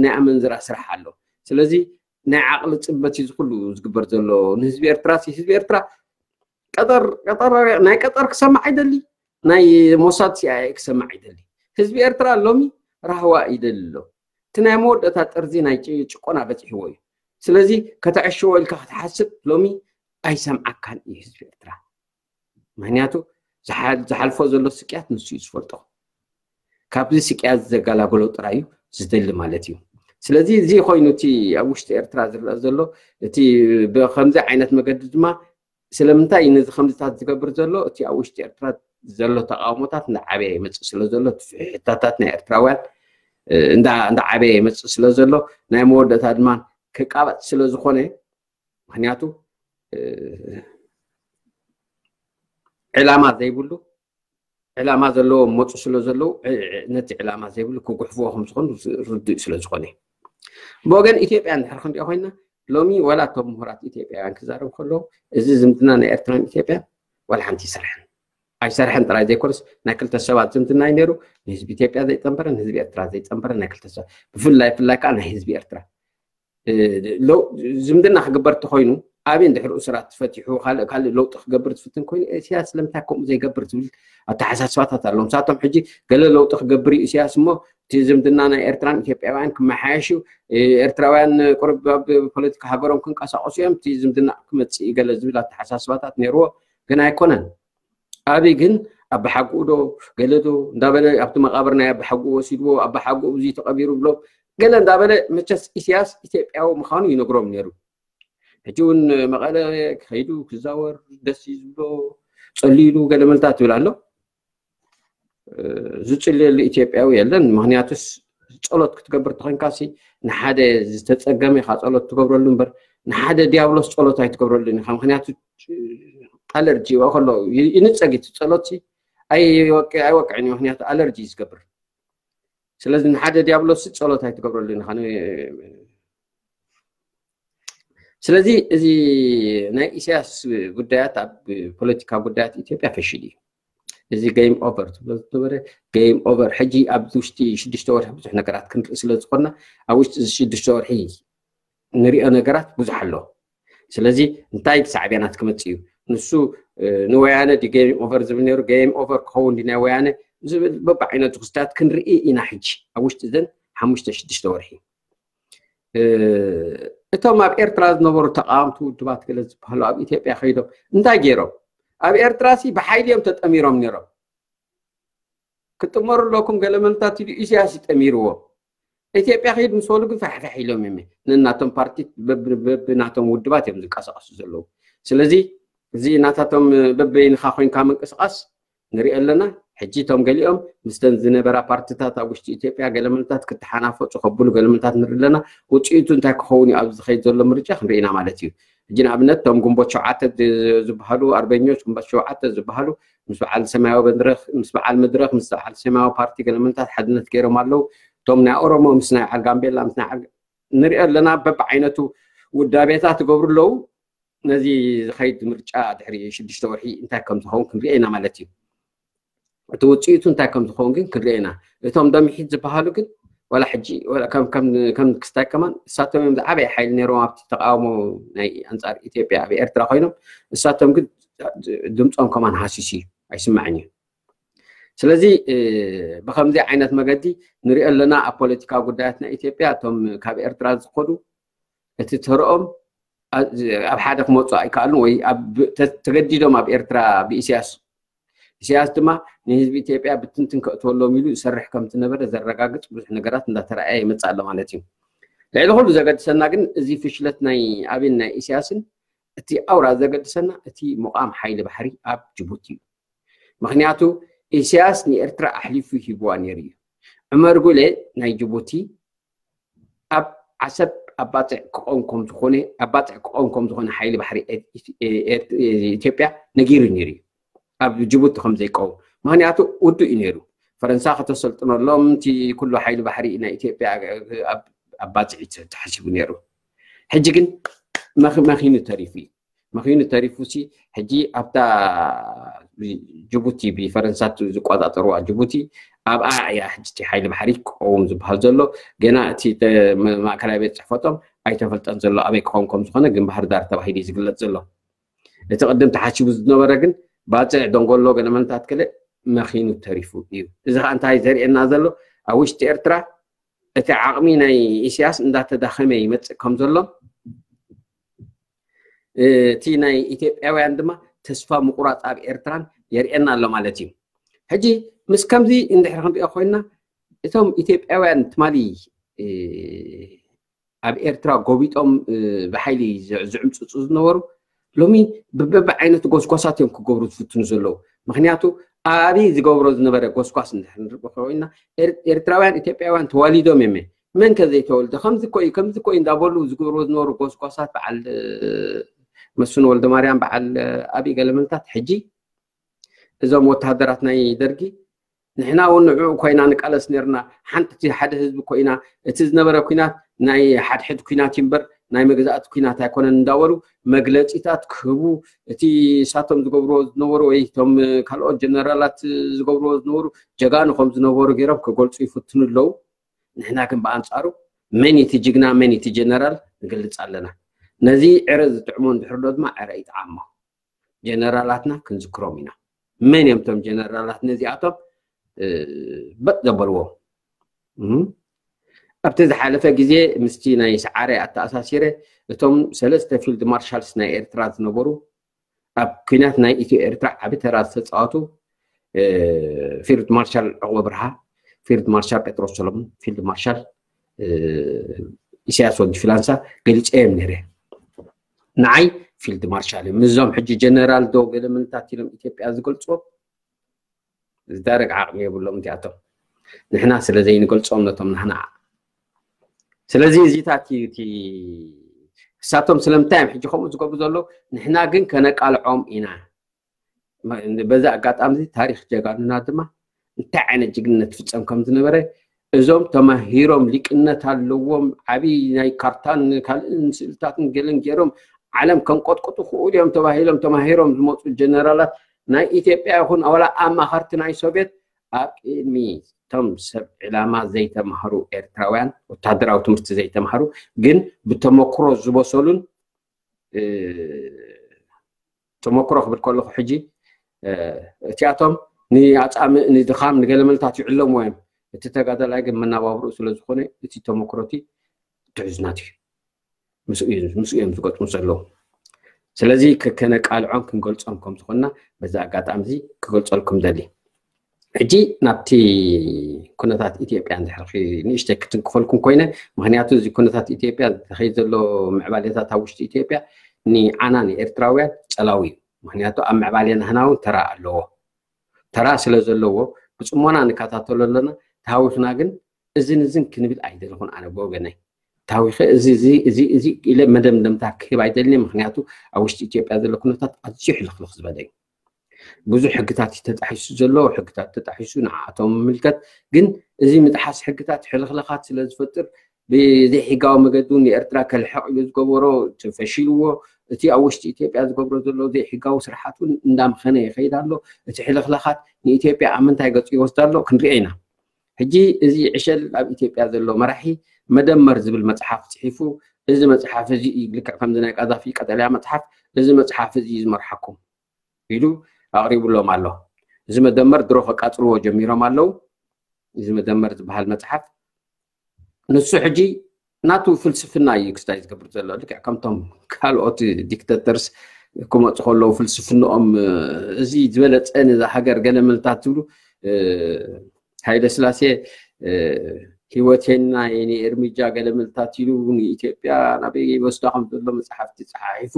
ናይ ኣመንዝራ ስራሕ ኣሎ ስለዚ ናይ ዓቕሊ ፅበት እዩ ዝኩሉ ዝግበር ዘሎ ንህዝቢ ኤርትራ ህዝቢ ኤርትራ ቀጠር ቀጠር ናይ ቀጠር ክሰማዕ ኣይደሊ ናይ ሞሳድ ሲኣይኤ ክሰማዕ ኣይደሊ ህዝቢ ኤርትራ ሎሚ ራህዋ ይደሊ ኣሎ እቲ ናይ መወዳእታ ጥርዚ ናይ ጭቆና በፂሕዎ እዩ ስለዚ ከተዕሽዎ ኢልካ ክትሓስብ ሎሚ ኣይሰምዓካን እዩ ህዝቢ ኤርትራ ምክንያቱ ዝሓልፎ ዘሎ ስቅያት ንሱ እዩ ዝፈልጦ ካብዚ ስቅያት ዘገላገሎ ጥራይ እዩ ዝደሊ ማለት እዩ ስለዚ እዚ ኮይኑ እቲ ኣብ ውሽጢ ኤርትራ ዝረአ ዘሎ እቲ ብከምዚ ዓይነት መገዲ ድማ ስለምንታይ ነዚ ከምዚታት ዝገብር ዘሎ እቲ ኣብ ውሽጢ ኤርትራ ዘሎ ተቃውሞታት እንዳዓበየ ይመፅእ ስለ ዘሎ ፍሕታታት ናይ ኤርትራውያን እንዳዓበየ ይመፅእ ስለ ዘሎ ናይ መወዳእታ ድማ ክቃበፅ ስለ ዝኾነ ምክንያቱ ዕላማ ዘይብሉ ዕላማ ዘለዎም መፁ ስለ ዘለዉ ነቲ ዕላማ ዘይብሉ ክጉሕፍዎ ከም ዝኾኑ ርዱእ ስለ ዝኾነ ብወገን ኢትዮጵያ እንድሕር ክንሪኦ ኮይና ሎሚ ዋላ እቶም ምሁራት ኢትዮጵያውያን ክዛረቡ ከለዉ እዚ ዝምድና ናይ ኤርትራን ኢትዮጵያን ዋላ ሓንቲ ይሰርሐን ኣይሰርሐን ጥራይ ዘይኮነስ ናይ ክልተ ሰባት ዝምድና እዩ ነይሩ ንህዝቢ ኢትዮጵያ ዘይፀንበረ ንህዝቢ ኤርትራ ዘይፀንበረ ናይ ክልተ ሰባት ብፍላይ ፍላይ ከዓ ናይ ህዝቢ ኤርትራ ዝምድና ክግበር ተኮይኑ ኣብን ድሕሪ እስራት ፈቲሑ ካልእ ካልእ ለውጢ ክገብር ዝፍትን ኮይኑ ኢሳያስ ስለምንታይ ከምኡ ዘይገብር ዝብል ኣተሓሳስባታት ኣለዎም ንሳቶም ሕጂ ገለ ለውጢ ክገብር እዩ ኢሳያስ እሞ እቲ ዝምድና ናይ ኤርትራን ኢትዮጵያውያን ክመሓየሽ እዩ ኤርትራውያን ቁርብ ኣብ ፖለቲካ ሃገሮም ክንቀሳቀሱ እዮም እቲ ዝምድና ክመፅእ ገለ ዝብል ኣተሓሳስባታት ነይርዎ ግን ኣይኮነን ኣብይ ግን ኣባሓጉኡ ዶ ገለ ዶ እንዳበለ ኣብቲ መቃብር ናይ ኣባሓጉኡ ወሲድዎ ኣባሓጉኡ ብዙ ተቀቢሩ ብሎም ገለ እንዳበለ መቸስ ኢሳያስ ኢትዮጵያዊ ምዃኑ ይነግሮም ነይሩ ሕጂ እውን መቐለ ከይዱ ክዛወር ደስ እዩ ዝብሎ ጸልዩ ኢሉ ገለ መልታት ትብል ኣሎ ዝጽልየሉ ኢትዮጵያዊ የለን ምክንያቱስ ጸሎት ክትገብር ተኮንካሲ ንሓደ ዝተጸገመ ኢካ ጸሎት ትገብረሉ እምበር ንሓደ ዲያብሎስ ጸሎት ኣይትገብረሉን ኢካ ምክንያቱ ኣለርጂ ይዋ ከሎ ይንጸግ እቲ ጸሎት ኣይወቅዕን እዩ ምክንያቱ ኣለርጂ እዩ ዝገብር ስለዚ ንሓደ ዲያብሎስ ጸሎት ኣይትገብረሉን ኢካ ስለዚ እዚ ናይ ኢሳያስ ጉዳያት ኣብ ፖለቲካ ጉዳያት ኢትዮጵያ ፈሽል እዩ እዚ game over ትብሎ ዝነበረ game over ሕጂ ኣብ ውሽጢ ሽዱሽተ ወርሒ ብዙሕ ነገራት ክንርኢ ስለ ዝኾንና ኣብ ውሽጢ እዚ ሽዱሽተ ወርሒ ንሪኦ ነገራት ብዙሕ ኣሎ ስለዚ እንታይ ሳዕቤናት ክመፅእ እዩ ንሱ ንወያነ game over ዝብል ነይሩ game over ክኸውን ናይ ወያነ ዝብል በብዓይነቱ ክስታት ክንርኢ ኢና ሕጂ ኣብ ውሽጢ ዘን ሓሙሽተ ሽዱሽተ ወርሒ እቶም ኣብ ኤርትራ ዝነበሩ ተቃወምቲ ውድባት ገለ ዝበሃሉ ኣብ ኢትዮጵያ ከይዶም እንታይ ገይሮም ኣብ ኤርትራ ሲ ብሓይሊ እዮም ተጠሚሮም ነይሮም ክጥመሩ ኣለኩም ገለ መንታት ኢሉ ኢሳያስ ይጠሚርዎ ኢትዮጵያ ከይድ ምስ በሉ ግን ፋሕፋሕ ኢሎም እዮም ነናቶም ፓርቲ ብናቶም ውድባት እዮም ዝንቀሳቀሱ ዘለዉ ስለዚ እዚ ናታቶም በበይንካ ኮይንካ ምንቅስቃስ ንሪኦ ኣለና ሕጂ እቶም ገሊኦም ምስተን ዝነበራ ፓርትታት ኣብ ውሽጢ ኢትዮጵያ ገለመልታት ክተሓናፈፁ ከብሉ ገለመልታት ንርኢ ኣለና ውፅኢቱ እንታይ ክኸውን እዩ ኣብዚ ዝኸይድ ዘሎ ምርጫ ክንርኢ ኢና ማለት እዩ ሕጂ ንኣብነት እቶም ግንቦት ሸውዓተ ዝበሃሉ ኣርበኞች ግንቦት ሸውዓተ ዝበሃሉ ምስ በዓል ሰማያዊ መድረክ ምስ በዓል መድረክ ምስ በዓል ሰማያዊ ፓርቲ ገለመልታት ሓድነት ገይሮም ኣለዉ እቶም ናይ ኦሮሞ ምስ ናይ በዓል ጋምቤላ ምስ ናይ ንሪኦ ኣለና በብዓይነቱ ውዳቤታት ይገብሩ ኣለዉ ነዚ ዝኸይድ ምርጫ ድሕሪ ሽዱሽተ ወርሒ እንታይ ከም ዝኸውን ክንሪኦ ኢና ማለት እዩ እቲ ውፅኢቱ እንታይ ከም ዝኸውን ግን ክንሪኦ ኢና እቶም ደምሒት ዝበሃሉ ግን ዋላ ሕጂ ከም ክስታይ ከማን እሳቶም እዮም ዝዓበየ ሓይሊ ነይሮም ኣብቲ ተቃውሞ ናይ ኣንፃር ኢትዮጵያ ኣብ ኤርትራ ኮይኖም እሳቶም ግን ድምፆም ከማን ሃሲስ እዩ ኣይስማዕን እዩ ስለዚ ብከምዚ ዓይነት መገዲ ንሪኦ ኣለና ኣብ ፖለቲካዊ ጉዳያት ናይ ኢትዮጵያ እቶም ካብ ኤርትራ ዝኸዱ እቲ ተርኦም ኣብ ሓደ ክመፁ ኣይከኣሉን ወይ ተገዲዶም ኣብ ኤርትራ ብኢሳያስ ኢሳያስ ድማ ንህዝቢ ኢትዮጵያ ብትንትን ከእትወሎም ኢሉ ዝሰርሕ ከም ዝነበረ ዘረጋግፅ ብዙሕ ነገራት እንዳተረኣየ ይመፅእ ኣሎ ማለት እዩ ልዕሊ ኩሉ ዘገድሰና ግን እዚ ፍሽለት ናይ ኣብን ናይ ኢሳያስን እቲ ኣውራ ዘገድሰና እቲ ሙቃም ሓይሊ ባሕሪ ኣብ ጅቡቲ እዩ ምክንያቱ ኢሳያስ ንኤርትራ ኣሕሊፉ ሂብዋ ነይሩ እዩ ዑመር ጉሌ ናይ ጅቡቲ ኣብ ዓሰብ ኣባፅዕ ክቆም ከም ዝኾነ ኣባፅዕ ክቆም ከም ዝኾነ ሓይሊ ባሕሪ ኢትዮጵያ ነጊሩ ነይሩ እዩ ኣብ ጅቡቲ ከም ዘይቀውም ምክንያቱ ውዱእ እዩ ነይሩ ፈረንሳ ከተሰልጥነሎም እቲ ኩሉ ሓይሊ ባሕሪ ናይ ኢትዮጵያ ኣባፅዕ ተሓሲቡ ነይሩ ሕጂ ግን መኺኑ ተሪፉ እዩ መኺኑ ተሪፉ ሲ ሕጂ ኣብታ ጅቡቲ ብፈረንሳ ዝቆፃፀርዋ ጅቡቲ ኣብኣ እያ ሕጂ ሓይሊ ባሕሪ ክቀውም ዝበሃል ዘሎ ገና እቲ ማእከላይ ቤት ፅሕፈቶም ኣይተፈልጠን ዘሎ ኣበይ ክኸውን ከም ዝኾነ ግን ባህር ዳር ተባሂሉ እዩ ዝግለፅ ዘሎ እቲ ቅድም ተሓሲቡ ዝነበረ ግን ባፅዕ ደንጎሎ ገለመንታት ገለ መኺኑ ተሪፉ እዩ እዚ ከዓ እንታይ ዘርእየና ዘሎ ኣብ ውሽጢ ኤርትራ እቲ ዓቕሚ ናይ ኢሳያስ እንዳተዳኸመ ይመፅእ ከም ዘሎ እቲ ናይ ኢትዮጵያውያን ድማ ተስፋ ምቁራፅ ኣብ ኤርትራን የርእየና ኣሎ ማለት እዩ ሕጂ ምስ ከምዚ እንድሕር ክንሪኦ ኮይንና እቶም ኢትዮጵያውያን ትማሊ ኣብ ኤርትራ ጎቢጦም ብሓይሊ ዝዕምፅፁ ዝነበሩ ሎሚ ብበቢ ዓይነት ጎስጓሳት እዮም ክገብሩ ዝፍትኑ ዘለዉ ምክንያቱ ኣብይ ዝገብሮ ዝነበረ ጎስጓስ እንድሕር ንርኢ ኮይና ኤርትራውያን ኢትዮጵያውያን ተዋሊዶም እዮም መን ከ ዘይተወልደ ከምዚ ኮይ ከምዚ ኮይ እንዳበሉ ዝገብርዎ ዝነበሩ ጎስጓሳት በዓል መስፍን ወልደ ማርያም በዓል ኣብይ ገለመልታት ሕጂ እዞም ወተሃደራት ናይ ደርጊ ንሕና እውን ንዕኡ ኮይና ንቃለስ ነርና። ሓንቲ እቲ ሓደ ህዝቢ ኮይና፣ እቲ ዝነበረ ኩናት ናይ ሓድሕድ ኩናት እዩ እምበር ናይ መግዛእቲ ኩናት ኣይኮነን እንዳበሉ መግለፂታት ክህቡ፣ እቲ እሳቶም ዝገብርዎ ዝነበሩ ወይ እቶም ካልኦት ጀነራላት ዝገብርዎ ዝነበሩ ጀጋኑ ከም ዝነበሩ ገይሮም ክገልፁ ይፍትኑ ኣለዉ። ንሕና ግን ብኣንፃሩ መን እቲ ጅግና መን እቲ ጀነራል ንገልፅ ኣለና። ነዚ ዕረ ዝጥዕሞ እንድሕር ዶ ድማ ዕረ ይጥዓሞ። ጀነራላትና ክንዝክሮም ኢና። መን እዮም እቶም ጀነራላት ነዚኣቶም በጥ ዘበልዎም? ኣብቲ ዝሓለፈ ግዜ ምስቲ ናይ ሰዓረ ኣተኣሳሲረ እቶም ሰለስተ ፊልድ ማርሻልስ ናይ ኤርትራ ዝነበሩ ኣብ ኩናት ናይ ኢትዮ ኤርትራ ዓቢ ተራ ዝተፃወቱ ፊልድ ማርሻል ዕቑበ ብርሃ፣ ፊልድ ማርሻል ጴጥሮስ ሰሎሞን፣ ፊልድ ማርሻል ኢሳያስ ወዲ ፊላንሳ ገሊፀ እዮም ነይረ። ንዓይ ፊልድ ማርሻል እዮም። እዞም ሕጂ ጀነራል ዶ ገለ ምንታት ኢሎም ኢትዮጵያ ዝገልፅዎም ዝዳረግ ዓቕሚ የብሎም እቲኣቶም። ንሕና ስለ ዘይንገልፆም ነቶም ናህና። ስለዚ እዚታት እዩ እቲ እሳቶም ስለምንታይ እዮም ሕጂ ከምኡ ዝገብሩ ዘለዉ? ንሕና ግን ከነቃልዖም ኢና። በዚ ኣጋጣሚ እዚ ታሪክ ጀጋኑና ድማ እንታይ ዓይነት ጅግንነት ፍፀም ከም ዝነበረ እዞም ተማሂሮም ሊቅነት ኣለዎም ዓብይ ናይ ካርታን ካልእን ስእልታትን ገለን ገይሮም ዓለም ከንቆጥቁጡ ክእሉ እዮም ተባሂሎም ተማሂሮም ዝመፁ ጀነራላት ናይ ኢትዮጵያ ይኹን ኣዋላ ኣማኸርቲ ናይ ሶቪየት ኣብ ቅድሚ እቶም ሰብ ዕላማ ዘይተማህሩ ኤርትራውያን ወታደራዊ ትምህርቲ ዘይተማህሩ ግን ብተመክሮ ዝበሰሉን ተመክሮ ክብል ከለኹ ሕጂ እቲኣቶም ንኣፃምእ ንድኻም ንገለመልታት ይዕለምዎ እዮም። እቲ ተጋዳላይ ግን መናባብርኡ ስለ ዝኾነ እቲ ተመክሮቲ ትሕዝናት እዩ ምስኡ እዮም ዝገጥሙ ዘለዉ። ስለዚ ከነቃልዖም ክንገልፆም ከም ዝኾንና በዚ ኣጋጣሚ እዚ ክገልፀልኩም ደሊ። ሕጂ ናብቲ ኩነታት ኢትዮጵያ ንድሕሪ ንእሽተይ ክትንክፈልኩም ኮይነ፣ ምክንያቱ እዚ ኩነታት ኢትዮጵያ ዝኸይድ ዘሎ ምዕባሌታት ኣብ ውሽጢ ኢትዮጵያ ንዓና ንኤርትራውያን ጸላዊ እዩ። ምክንያቱ ኣብ ምዕባሌ ናህና እውን ተራ ኣለዎ። ተራ ስለ ዘለዎ ብጽሞና ንከታተሎ ኣለና። ተሃዊኽና ግን እዝን እዝን ክንብል ኣይደለኹን ኣነ ብወገነይ። ታዊኸ እዚ እዚ እዚ እዚ ኢለ መደምደምታ ክህብ ኣይደልን። ምክንያቱ ኣብ ውሽጢ ኢትዮጵያ ዘሎ ኩነታት ኣዝዩ ሕልኽልኽ ዝበለ እዩ። ብዙሕ ሕግታት እዩ ተጣሒሱ ዘሎ። ሕግታት ተጣሒሱ ንዓኣቶም ምምልከት ግን እዚ ምጥሓስ ሕግታት ሕልኽልኻት ስለ ዝፈጥር ብዘይሕጋዊ መገዲ እውን ንኤርትራ ከልሕቕ ኢሉ ዝገበሮ ፈሺልዎ። እቲ ኣብ ውሽጢ ኢትዮጵያ ዝገብሮ ዘሎ ዘይሕጋዊ ስርሓት እውን እንዳምኸነ ይኸይድ ኣሎ። እቲ ሕልኽልኻት ንኢትዮጵያ ኣብ ምንታይ ገፁ ይወስዳ ኣሎ ክንሪኦ ኢና። ሕጂ እዚ ዕሸል ኣብ ኢትዮጵያ ዘሎ መራሒ መደመር ዝብል መፅሓፍ ፅሒፉ፣ እዚ መፅሓፍ እዚ እዩ ልክዕ ከምዚ ናይ ቃዛፊ ቀጠልያ መፅሓፍ፣ እዚ መፅሓፍ እዚ እዩ ዝመርሓኩም ኢሉ ኣቕሪቡሎም ኣሎ። እዚ መደመር ድሮ ከቃፅልዎ ጀሚሮም ኣለዉ። እዚ መደመር ዝበሃል መፅሓፍ ንሱ ሕጂ ናቱ ፍልስፍና እዩ ክስታይ ዝገብር ዘሎ። ልክዕ ከምቶም ካልኦት ዲክተተርስ ክመፁ ከለዉ ፍልስፍንኦም እዚ ዝበለፀ ነዛ ሃገር ገለ ምልታት ዝብሉ ሃይለ ስላሴ ህይወቴና የኔ እርምጃ ገለ ምልታት ኢሉ ንኢትዮጵያ ናበይ ይወስዳ ከም ዘሎ መፅሓፍቲ ፀሓሒፉ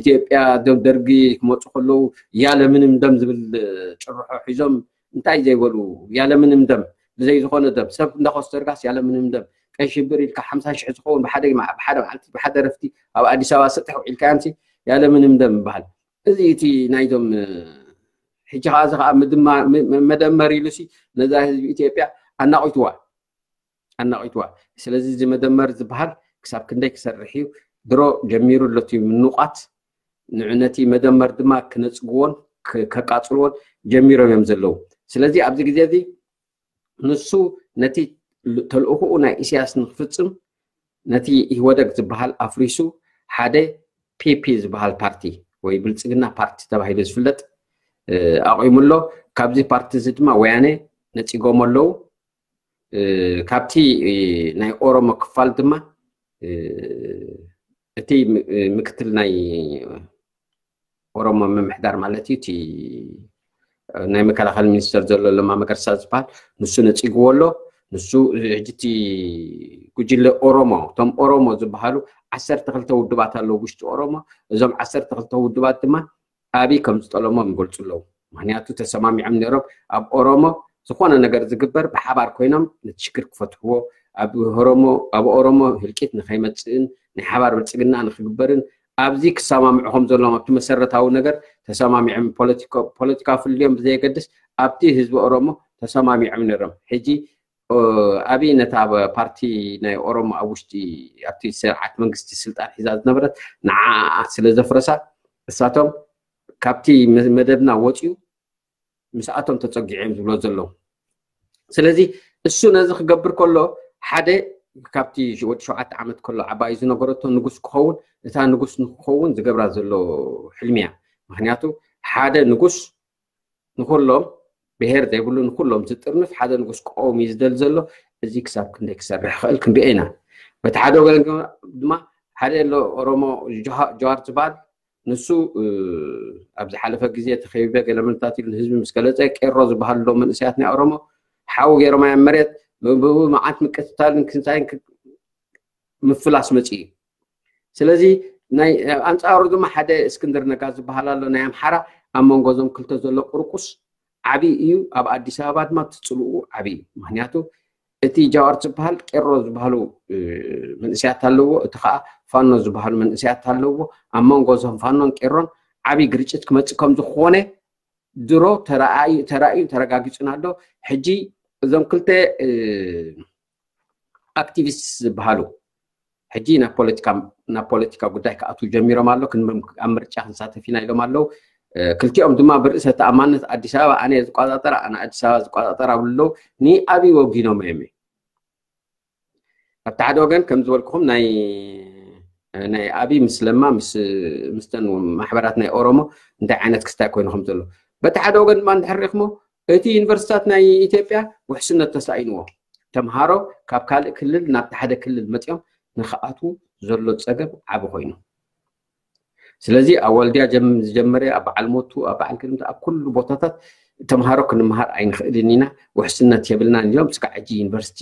ኢትዮጵያ ደም ደርጊ ክመፁ ከለዉ ያለ ምንም ደም ዝብል ጭርሖ ሒዞም እንታይ ዘይበሉ ያለ ምንም ደም ብዘይ ዝኾነ ደም ሰብ እንዳኮስተርጋስ ያለ ምንም ደም ቀይ ሽብር ኢልካ ሓምሳ ሽሕ ዝኸውን ብሓደ ብሓደ መዓልቲ ብሓደ ረፍቲ ኣብ ኣዲስ ኣበባ ስጥሕ ውዒልካ ያንሲ ያለ ምንም ደም ይበሃል። እዚ እቲ ናይዞም ሕጂ ከዓ እዚ ከዓ መደመር ኢሉሲ ነዛ ህዝቢ ኢትዮጵያ ኣናቂትዋ ኣናቂትዋ። ስለዚ እዚ መደመር ዝበሃል ክሳብ ክንደይ ክሰርሕ እዩ ድሮ ጀሚሩ ኣሎ እቲ ምንቋት ንዕነቲ መደመር ድማ ክነፅግዎን ከቃፅልዎን ጀሚሮም እዮም ዘለዉ። ስለዚ ኣብዚ ግዜ እዚ ንሱ ነቲ ተልእኽኡ ናይ ኢሳያስ ንክፍፅም ነቲ ኢህወደግ ዝበሃል ኣፍሪሱ ሓደ ፒፒ ዝበሃል ፓርቲ ወይ ብልፅግና ፓርቲ ተባሂሉ ዝፍለጥ ኣቑሙ ኣሎ። ካብዚ ፓርቲ እዚ ድማ ወያነ ነፂጎም ኣለዉ። ካብቲ ናይ ኦሮሞ ክፋል ድማ እቲ ምክትል ናይ ኦሮሞ ምምሕዳር ማለት እዩ እቲ ናይ መከላኸሊ ሚኒስተር ዘሎ ለማ መገርሳ ዝበሃል ንሱ ነፂግዎ ኣሎ። ንሱ ሕጂ እቲ ጉጅለ ኦሮሞ እቶም ኦሮሞ ዝበሃሉ ዓሰርተ ክልተ ውድባት ኣለዉ ውሽጢ ኦሮሞ። እዞም ዓሰርተ ክልተ ውድባት ድማ ኣብይ ከም ዝጠለሞም ይገልፁ ኣለዉ። ምክንያቱ ተሰማሚዖም ነይሮም ኣብ ኦሮሞ ዝኾነ ነገር ዝግበር ብሓባር ኮይኖም ነቲ ሽግር ክፈትሕዎ ኣብ ኦሮሞ ህልቂት ንከይመፅእን ናይ ሓባር ብልፅግና ንክግበርን ኣብዚ ክሰማምዑ ከም ዘለዎም ኣብቲ መሰረታዊ ነገር ተሰማሚዖም ፖለቲካ ፍልዮም ብዘየገድስ ኣብቲ ህዝቢ ኦሮሞ ተሰማሚዖም ነይሮም። ሕጂ ኣብይ ነታ ፓርቲ ናይ ኦሮሞ ኣብ ውሽጢ ኣብቲ ስርዓት መንግስቲ ስልጣን ሒዛ ዝነበረት ንዓ ስለ ዘፍረሳ እሳቶም ካብቲ መደብና ወፅዩ ምስኣቶም ተፀጊዖም ዝብሎ ዘለዉ። ስለዚ እሱ ነዚ ክገብር ከሎ ሓደ ካብቲ ወዲ ሸውዓተ ዓመት ከሎ ዓባዩ ዝነገረቶ ንጉስ ክኸውን እታ ንጉስ ንክኸውን ዝገብራ ዘሎ ሕልሚ እያ። ምክንያቱ ሓደ ንጉስ ንኩሎም ብሄር ዘይብሉ ንኩሎም ዝጥርንፍ ሓደ ንጉስ ክቀውም እዩ ዝደል ዘሎ። እዚ ክሳብ ክንደይ ክሰርሕ ክእል ክንሪኦ ኢና። በቲ ሓደ ወገን ድማ ሓደ ኣሎ ኦሮሞ ጀዋር ዝበሃል ንሱ ኣብ ዝሓለፈ ግዜ ተኸቢበ ገለመልታት ኢሉ ንህዝቢ ምስ ገለፀ ቄሮ ዝበሃል ሎ መንእሰያት ናይ ኦሮሞ ሓዊ ገይሮም ኣያ መሬት ብኡ መዓት ምቅትታልን ክንሳይን ምፍላስ መፂ እዩ። ስለዚ ናይ ኣንፃሩ ድማ ሓደ እስክንድር ነጋ ዝበሃል ኣሎ ናይ ኣምሓራ ኣብ መንጎ ዞም ክልተ ዘሎ ቁርቁስ ዓብዪ እዩ። ኣብ ኣዲስ ኣበባ ድማ ትፅልኡ ዓብዪ እዩ። ምክንያቱ እቲ ጃዋር ዝበሃል ቄሮ ዝበሃሉ መንእስያት ኣለዎ፣ እቲ ከዓ ፋኖ ዝበሃሉ መንእስያት ኣለዎ። ኣብ መንጎ ዞም ፋኖን ቄሮን ዓብዪ ግርጭት ክመፅእ ከም ዝኾነ ድሮ ተራእዩ ተራእዩ ተረጋጊፁን ኣሎ። ሕጂ እዞም ክልተ ኣክቲቪስት ዝበሃሉ ሕጂ ናብ ፖለቲካ ናብ ፖለቲካ ጉዳይ ክኣትዉ ጀሚሮም ኣሎ። ኣብ ምርጫ ክንሳተፍ ኢና ኢሎም ኣለዉ። ክልቲኦም ድማ ብርእሰ ተኣማንነት ኣዲስ ኣበባ ኣነ ዝቆፃፀራ ኣነ ኣዲስ ኣበባ ዝቆፃፀራ ብሉ ኣለዉ። ንኣብይ ወጊኖም እዮም። ኣብቲ ሓደ ወገን ከም ዝበልኩኹም ናይ ናይ ኣብይ ምስ ለማ ምስ ምስተን ማሕበራት ናይ ኦሮሞ እንታይ ዓይነት ክስታይ ኮይኑ ከም ዘሎ በቲ ሓደ ወገን ድማ እንድሕር ሪኢኽሞ እቲ ዩኒቨርሲታት ናይ ኢትዮጵያ ውሕስነት ተሳኢንዎ ተምሃሮ ካብ ካልእ ክልል ናብቲ ሓደ ክልል መፂኦም ንክኣትዉ ዘሎ ፀገም ዓቢ ኮይኑ ስለዚ ኣብ ወልድያ ዝጀመረ ኣብ በዓል ሞቱ ኣብ በዓል ክልምቲ ኣብ ኩሉ ቦታታት ተምሃሮ ክንምሃር ኣይንኽእልን ኢና ውሕስነት የብልናን እዮም ስጋዕ ሕጂ ዩኒቨርሲቲ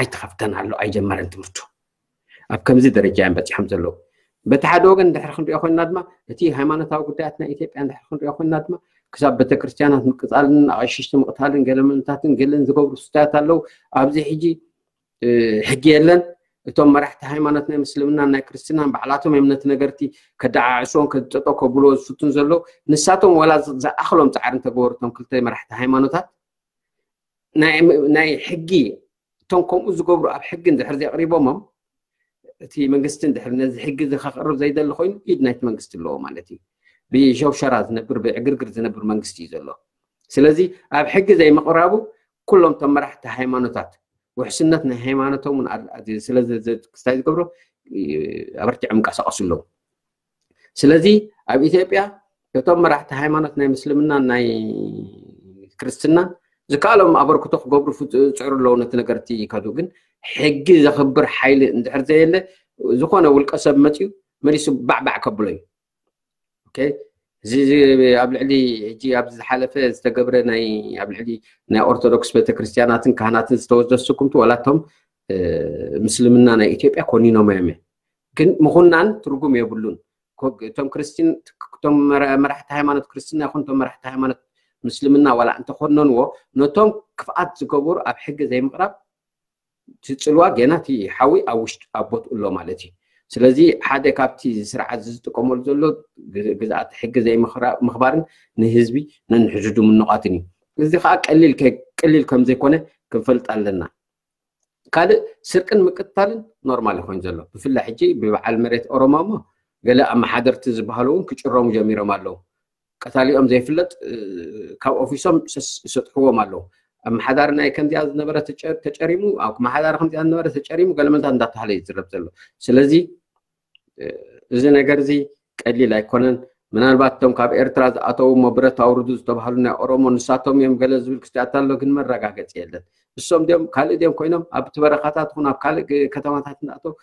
ኣይተኸፍተን ኣሎ ኣይጀመረን ትምህርቱ ኣብ ከምዚ ደረጃ እዮም በፂሖም ዘለዉ በቲ ሓደ ወገን እንድሕር ክንሪኦ ኮይንና ድማ እቲ ሃይማኖታዊ ጉዳያት ናይ ኢትዮጵያ እንድሕር ክንሪኦ ኮይንና ድማ ክሳብ ቤተክርስትያናት ምቅፃልን ኣቐሽሽቲ ምቕታልን ገለመልታትን ገለን ዝገብሩ ስታያት ኣለዉ ኣብዚ ሕጂ ሕጊ የለን እቶም መራሕቲ ሃይማኖት ናይ ምስልምናን ናይ ክርስትናን ባዕላቶም እዮም ነቲ ነገርቲ ከደዓዕስዎን ከድጠጦ ከብልዎ ዝፍቱን ዘለዉ ንሳቶም ዋላ ዝኣኽሎም ፃዕሪ እንተገበሩ እቶም ክልተ መራሕቲ ሃይማኖታት ናይ ሕጊ እቶም ከምኡ ዝገብሩ ኣብ ሕጊ እንድሕር ዘቕሪቦሞም እቲ መንግስቲ እንድሕር ነዚ ሕጊ እዚ ከቕርብ ዘይደሊ ኮይኑ ኢድ ናይቲ መንግስቲ ኣለዎ ማለት እዩ ብሸውሸራ ዝነብር ብዕግርግር ዝነብር መንግስቲ እዩ ዘሎ ስለዚ ኣብ ሕጊ ዘይምቕራቡ ኩሎም እቶም መራሕቲ ሃይማኖታት ውሕስነት ናይ ሃይማኖቶም ክስታይ ዝገብሮ ኣበርቲዖም ይንቀሳቀሱ ኣለዉ ስለዚ ኣብ ኢትዮጵያ እቶም መራሕቲ ሃይማኖት ናይ ምስልምና ናይ ክርስትና ዝከኣሎም ኣበርክቶ ክገብሩ ዝፅዕሩ ኣለዉ ነቲ ነገርቲ ከዱ ግን ሕጊ ዘኽብር ሓይሊ እንድሕር ዘየለ ዝኾነ ውልቀ ሰብ መፅዩ መሊሱ ባዕባዕ ከብሎ እዩ እዚ ኣብ ልዕሊ ሕጂ ኣብ ዝሓለፈ ዝተገብረ ናይ ኣብ ልዕሊ ናይ ኦርቶዶክስ ቤተክርስትያናትን ካህናትን ዝተወስደ ስጉምቲ ዋላቶም ምስልምና ናይ ኢትዮጵያ ኮኒኖም እዮም ግን ምኹናን ትርጉም የብሉን እቶም ክርስቲን እቶም መራሕቲ ሃይማኖት ክርስትና ይኹን እቶም መራሕቲ ሃይማኖት ምስልምና ዋላ እንተኮነንዎ ነቶም ክፍኣት ዝገበሩ ኣብ ሕጊ ዘይምቕራብ እቲ ፅልዋ ገና እቲ ሓዊ ኣብ ውሽጢ ኣብ ቦትኡ ኣሎ ማለት እዩ ስለዚ ሓደ ካብቲ ስርዓት ዝጥቀመሉ ዘሎ ግዝኣት ሕጊ ዘይምኽባርን ንህዝቢ ነንሕዙ ድምኑቓትን እዩ እዚ ከዓ ቀሊል ቀሊል ከም ዘይኮነ ክንፈልጥ ኣለና ካልእ ስርቅን ምቅትታልን ኖርማል ይኮን ዘሎ ብፍላይ ሕጂ ብበዓል መሬት ኦሮሞ እሞ ገለ ኣመሓደርቲ ዝበሃሉ እውን ክጭረሙ ጀሚሮም ኣለዉ ቀታሊኦም ዘይፍለጥ ካብ ኦፊሶም ይሰጥሕዎም ኣለዉ ኣመሓዳሪ ናይ ከምዚኣ ዝነበረ ተጨሪሙ ኣመሓዳሪ ከምዚኣ ዝነበረ ተጨሪሙ ገለመልታት እንዳተሃለ ይዝረብ ዘሎ ስለዚ እዚ ነገር እዚ ቀሊል ኣይኮነን ምናልባት እቶም ካብ ኤርትራ ዝኣተዉ እሞ ብረት ኣውርዱ ዝተባሃሉ ናይ ኦሮሞ ንሳቶም እዮም ገለ ዝብል ክስቲያት ኣሎ ግን መረጋገፂ የለን እሶም ድዮም ካልእ ድዮም ኮይኖም ኣብ ትበረኻታት ኹን ኣብ ካልእ ከተማታት እንዳኣተው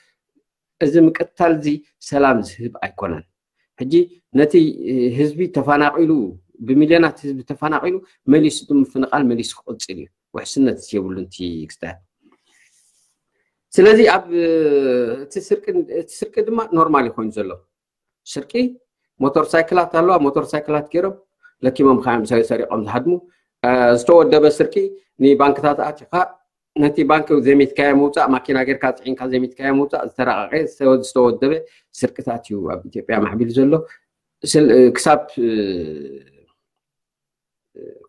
እዚ ምቅታል እዚ ሰላም ዝህብ ኣይኮነን ሕጂ ነቲ ህዝቢ ተፈናቂሉ ብሚልዮናት ህዝቢ ተፈናቂሉ መሊሱ እቲ ምፍንቃል መሊሱ ክቅፅል እዩ ውሕስነት የብሉን እቲ ክስታት ስለዚ ኣብ እቲ ስርቂ ድማ ኖርማል ይኮይኑ ዘሎ ስርቂ ሞተር ሳይክላት ኣለዋ ሞተር ሳይክላት ገይሮም ለኪሞም ካዮም ሰሪቆም ዝሃድሙ ዝተወደበ ስርቂ ንባንክታት ኣቲካ ነቲ ባንክ ዘሚትካዮ ምውፃእ ማኪና ጌርካ ፅዒንካ ዘሚትካዮ ምውፃእ ዝተረቃቀ ዝተወደበ ስርቅታት እዩ ኣብ ኢትዮጵያ ማዕቢሉ ዘሎ ስል- ክሳብ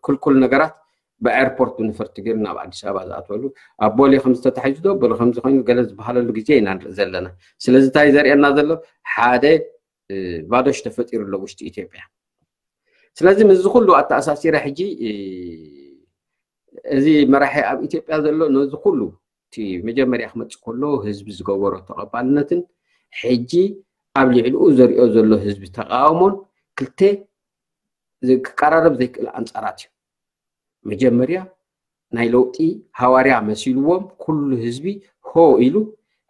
ክልኩል ነገራት ብኤርፖርት ብነፈርቲ ገይሩ ናብ ኣዲስ ኣበባ ዝኣትወሉ፣ ኣብ ቦሌ ከም ዝተታሒዙ ዶ ቦሌ ከምዚ ኮይኑ ገለ ዝበሃለሉ ግዜ ኢና ንርኢ ዘለና። ስለዚ እንታይ ዘርእየና ዘሎ? ሓደ ባዶሽ ተፈጢሩ ኣሎ ውሽጢ ኢትዮጵያ። ስለዚ ምስዚ ኩሉ ኣተኣሳሲረ ሕጂ እዚ መራሒ ኣብ ኢትዮጵያ ዘሎ ነዚ ኩሉ እቲ መጀመርያ ክመፅእ ከሎ ህዝቢ ዝገበሮ ተቐባልነትን ሕጂ ኣብ ልዕሊኡ ዘሪኦ ዘሎ ህዝቢ ተቃውሞን ክልተ ክቀራረብ ዘይክእል ኣንፃራት እዩ። መጀመርያ ናይ ለውጢ ሃዋርያ መሲልዎም ኩሉ ህዝቢ ሆ ኢሉ፣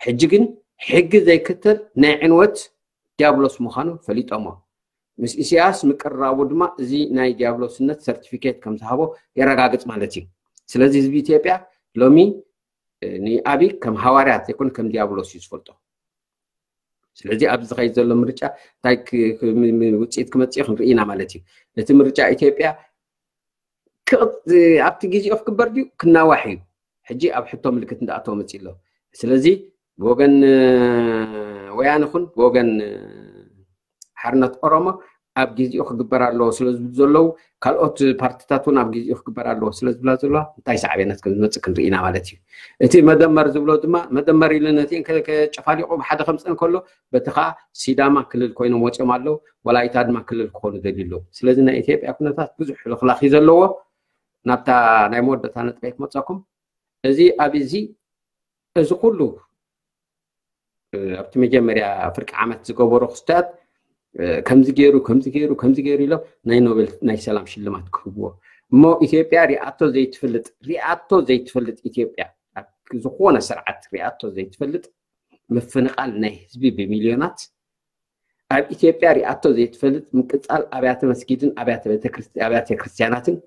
ሕጂ ግን ሕጊ ዘይክተል ናይ ዕንወት ዲያብሎስ ምዃኑ ፈሊጦሞ። ምስ ኢሳያስ ምቅርራቡ ድማ እዚ ናይ ዲያብሎስነት ሰርቲፊኬት ከም ዝሃቦ የረጋግጽ ማለት እዩ። ስለዚ ህዝቢ ኢትዮጵያ ሎሚ ንኣብይ ከም ሃዋርያ ዘይኮነ ከም ዲያብሎስ እዩ ዝፈልጦ። ስለዚ ኣብዚ ዝኸይድ ዘሎ ምርጫ እንታይ ውፅኢት ክመፅእ ክንርኢ ኢና ማለት እዩ። እቲ ምርጫ ኢትዮጵያ ኣብቲ ግዜኡ ክግበር ድዩ ክናዋሕ እዩ? ሕጂ ኣብ ሕቶ ምልክት እንዳኣተወ መፅእ ኣሎ። ስለዚ ብወገን ወያነ ኹን ብወገን ሓርነት ኦሮሞ ኣብ ግዜኡ ክግበር ኣለዎ ስለ ዝብሉ ዘለዉ፣ ካልኦት ፓርቲታት እውን ኣብ ግዜኡ ክግበር ኣለዎ ስለ ዝብላ ዘለዋ እንታይ ሳዕቤናት ከም ዝመፅእ ክንርኢ ኢና ማለት እዩ። እቲ መደመር ዝብሎ ድማ መደመር ኢሉ ነቲአን ከጨፋሊቑ ብሓደ ከምፀን ከሎ በቲ ከዓ ሲዳማ ክልል ኮይኖም ወፂኦም ኣለዉ። ወላይታ ድማ ክልል ክኾኑ ደልዩ ኣለዉ። ስለዚ ናይ ኢትዮጵያ ኩነታት ብዙሕ ሕልኽላኽ እዩ ዘለዎ። ናብታ ናይ መወዳእታ ነጥበይ ክመፀኩም። እዚ ኣብ እዚ እዚ ኩሉ ኣብቲ መጀመርያ ፍርቂ ዓመት ዝገበሮ ክስታት ከምዚ ገይሩ ከምዚ ገይሩ ከምዚ ገይሩ ኢሎም ናይ ኖቤል ናይ ሰላም ሽልማት ክህብዎ እሞ ኢትዮጵያ ሪኣቶ ዘይትፈልጥ ሪኣቶ ዘይትፈልጥ ኢትዮጵያ ዝኾነ ስርዓት ሪኣቶ ዘይትፈልጥ ምፍንቓል ናይ ህዝቢ ብሚልዮናት ኣብ ኢትዮጵያ ሪኣቶ ዘይትፈልጥ ምቅፃል ኣብያተ መስጊድን ኣብያተ ክርስትያናትን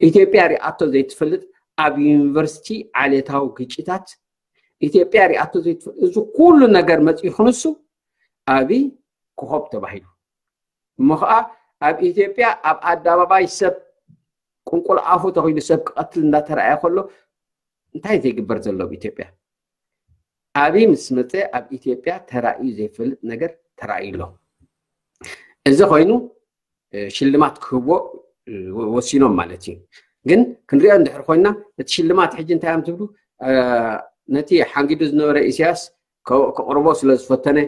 ኢትዮጵያ ሪኣቶ ዘይትፈልጥ ኣብ ዩኒቨርሲቲ ዓሌታዊ ግጭታት ኢትዮጵያ ሪኣቶ ዘይትፈልጥ እዚ ኩሉ ነገር መፅኡ ክንሱ ኣብይ ኮኾብ ተባሂሉ እሞ ከዓ ኣብ ኢትዮጵያ ኣብ ኣደባባይ ሰብ ቁንቁል ኣፉ ተኺሉ ሰብ ክቐትል እንዳተረኣየ ከሎ እንታይ ዘይግበር ዘሎ ኣብ ኢትዮጵያ ኣብይ ምስ መፀ ኣብ ኢትዮጵያ ተራእዩ ዘይፈልጥ ነገር ተራእዩ ኣሎ። እዚ ኮይኑ ሽልማት ክህቦ ወሲኖም ማለት እዩ። ግን ክንሪኦ እንድሕር ኮይና እቲ ሽልማት ሕጂ እንታይ እዮም ትብሉ? ነቲ ሓንጊዱ ዝነበረ ኢሳያስ ከቕርቦ ስለ ዝፈተነ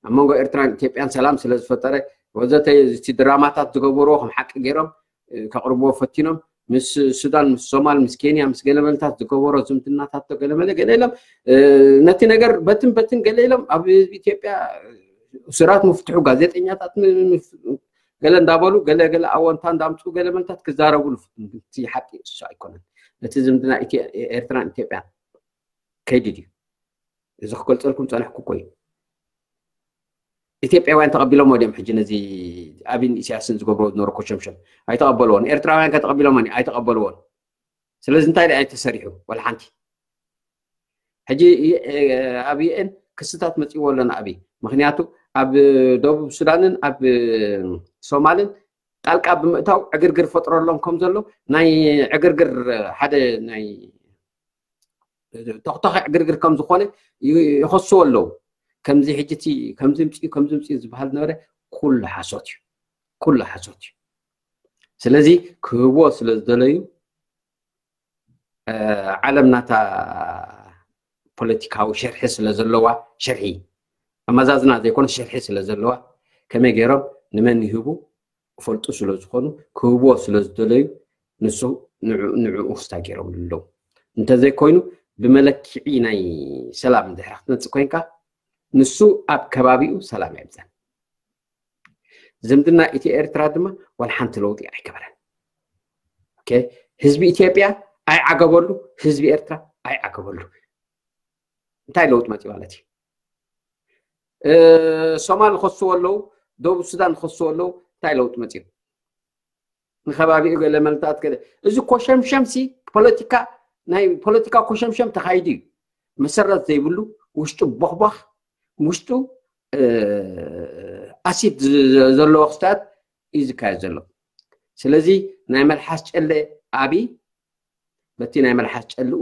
ኣብ መንጎ ኤርትራን ኢትዮጵያን ሰላም ስለ ዝፈጠረ ወዘተ እቲ ድራማታት ዝገበርዎ ከም ሓቂ ገይሮም ከቕርብዎ ፈቲኖም ምስ ሱዳን ምስ ሶማል ምስ ኬንያ ምስ ገለመለታት ዝገበሮ ዝምድናታት ገለመለ ገለ ኢሎም ነቲ ነገር በትን በትን ገለ ኢሎም ኣብ ህዝቢ ኢትዮጵያ እሱራት ምፍትሑ ጋዜጠኛታት ገለ እንዳበሉ ገለ ገለ ኣወንታ እንዳምፅኡ ገለ መልታት ክዛረቡ ንፍትኑ ግን እቲ ሓቂ እሱ ኣይኮነን። እቲ ዝምድና ኤርትራን ኢትዮጵያን ከይዲ ድዩ? እዚ ክገልፀልኩም ፀነሕኩ እኮ እዩ። ኢትዮጵያውያን ተቐቢሎሞ ድዮም ሕጂ ነዚ ኣብይን ኢሳያስን ዝገብርዎ ዝነበሩ ኮሸምሸም? ኣይተቐበልዎን። ኤርትራውያን ከ ተቐቢሎሞ ኣይተቐበልዎን። ስለዚ እንታይ ደኣ ተሰሪሑ? ዋላ ሓንቲ። ሕጂ ኣብ ዩኤን ክስታት መፂእዎ ኣሎ ንኣብይ። ምክንያቱ ኣብ ደቡብ ሱዳንን ኣብ ሶማልን ጣልቃ ብምእታው ዕግርግር ፈጥረሎም ከም ዘሎ ናይ ዕግርግር ሓደ ናይ ተኽተኺ ዕግርግር ከም ዝኾነ ይኸስዎ ኣለዉ። ከምዚ ሕጂ እቲ ከምዚ ምፅኡ ከምዚ ምፅኡ ዝበሃል ዝነበረ ኩሉ ሓሶት እዩ። ኩሉ ሓሶት እዩ። ስለዚ ክህብዎ ስለ ዝደለዩ ዓለም ናታ ፖለቲካዊ ሸርሒ ስለ ዘለዋ ሸርሒ ኣመዛዝና ዘይኮነ ሸርሒ ስለ ዘለዋ ከመይ ገይሮም ንመን ይህቡ ክፈልጡ ስለ ዝኾኑ ክህብዎ ስለ ዝደለዩ ንሱ ንዕኡ ክስታ ገይሮም ኣለዉ። እንተዘይኮይኑ ብመለክዒ ናይ ሰላም እንድሕር ክትመፅእ ኮይንካ ንሱ ኣብ ከባቢኡ ሰላም የብፀን። ዝምድና ኢትዮ ኤርትራ ድማ ዋላ ሓንቲ ለውጢ ኣይገበረን። ህዝቢ ኢትዮጵያ ኣይዓገበሉ፣ ህዝቢ ኤርትራ ኣይዓገበሉ። እንታይ ለውጢ መፂ ማለት እዩ? ሶማል ዝኸስዎ ኣለዉ፣ ደቡብ ሱዳን ዝኸስዎ ኣለዉ፣ እንታይ ለውጢ መፂኡ? ንከባቢኡ ገለ መልታት ገለ እዚ ኮሸምሸም ሲ ፖለቲካ ናይ ፖለቲካ ኮሸምሸም ተኻይዱ እዩ። መሰረት ዘይብሉ ውሽጡ ቦኽቧኽ ውሽጡ ኣሲድ ዘለዎ ክስታት እዩ ዝካየድ ዘሎ። ስለዚ ናይ መልሓስ ጨለ ኣብይ በቲ ናይ መልሓስ ጨልኡ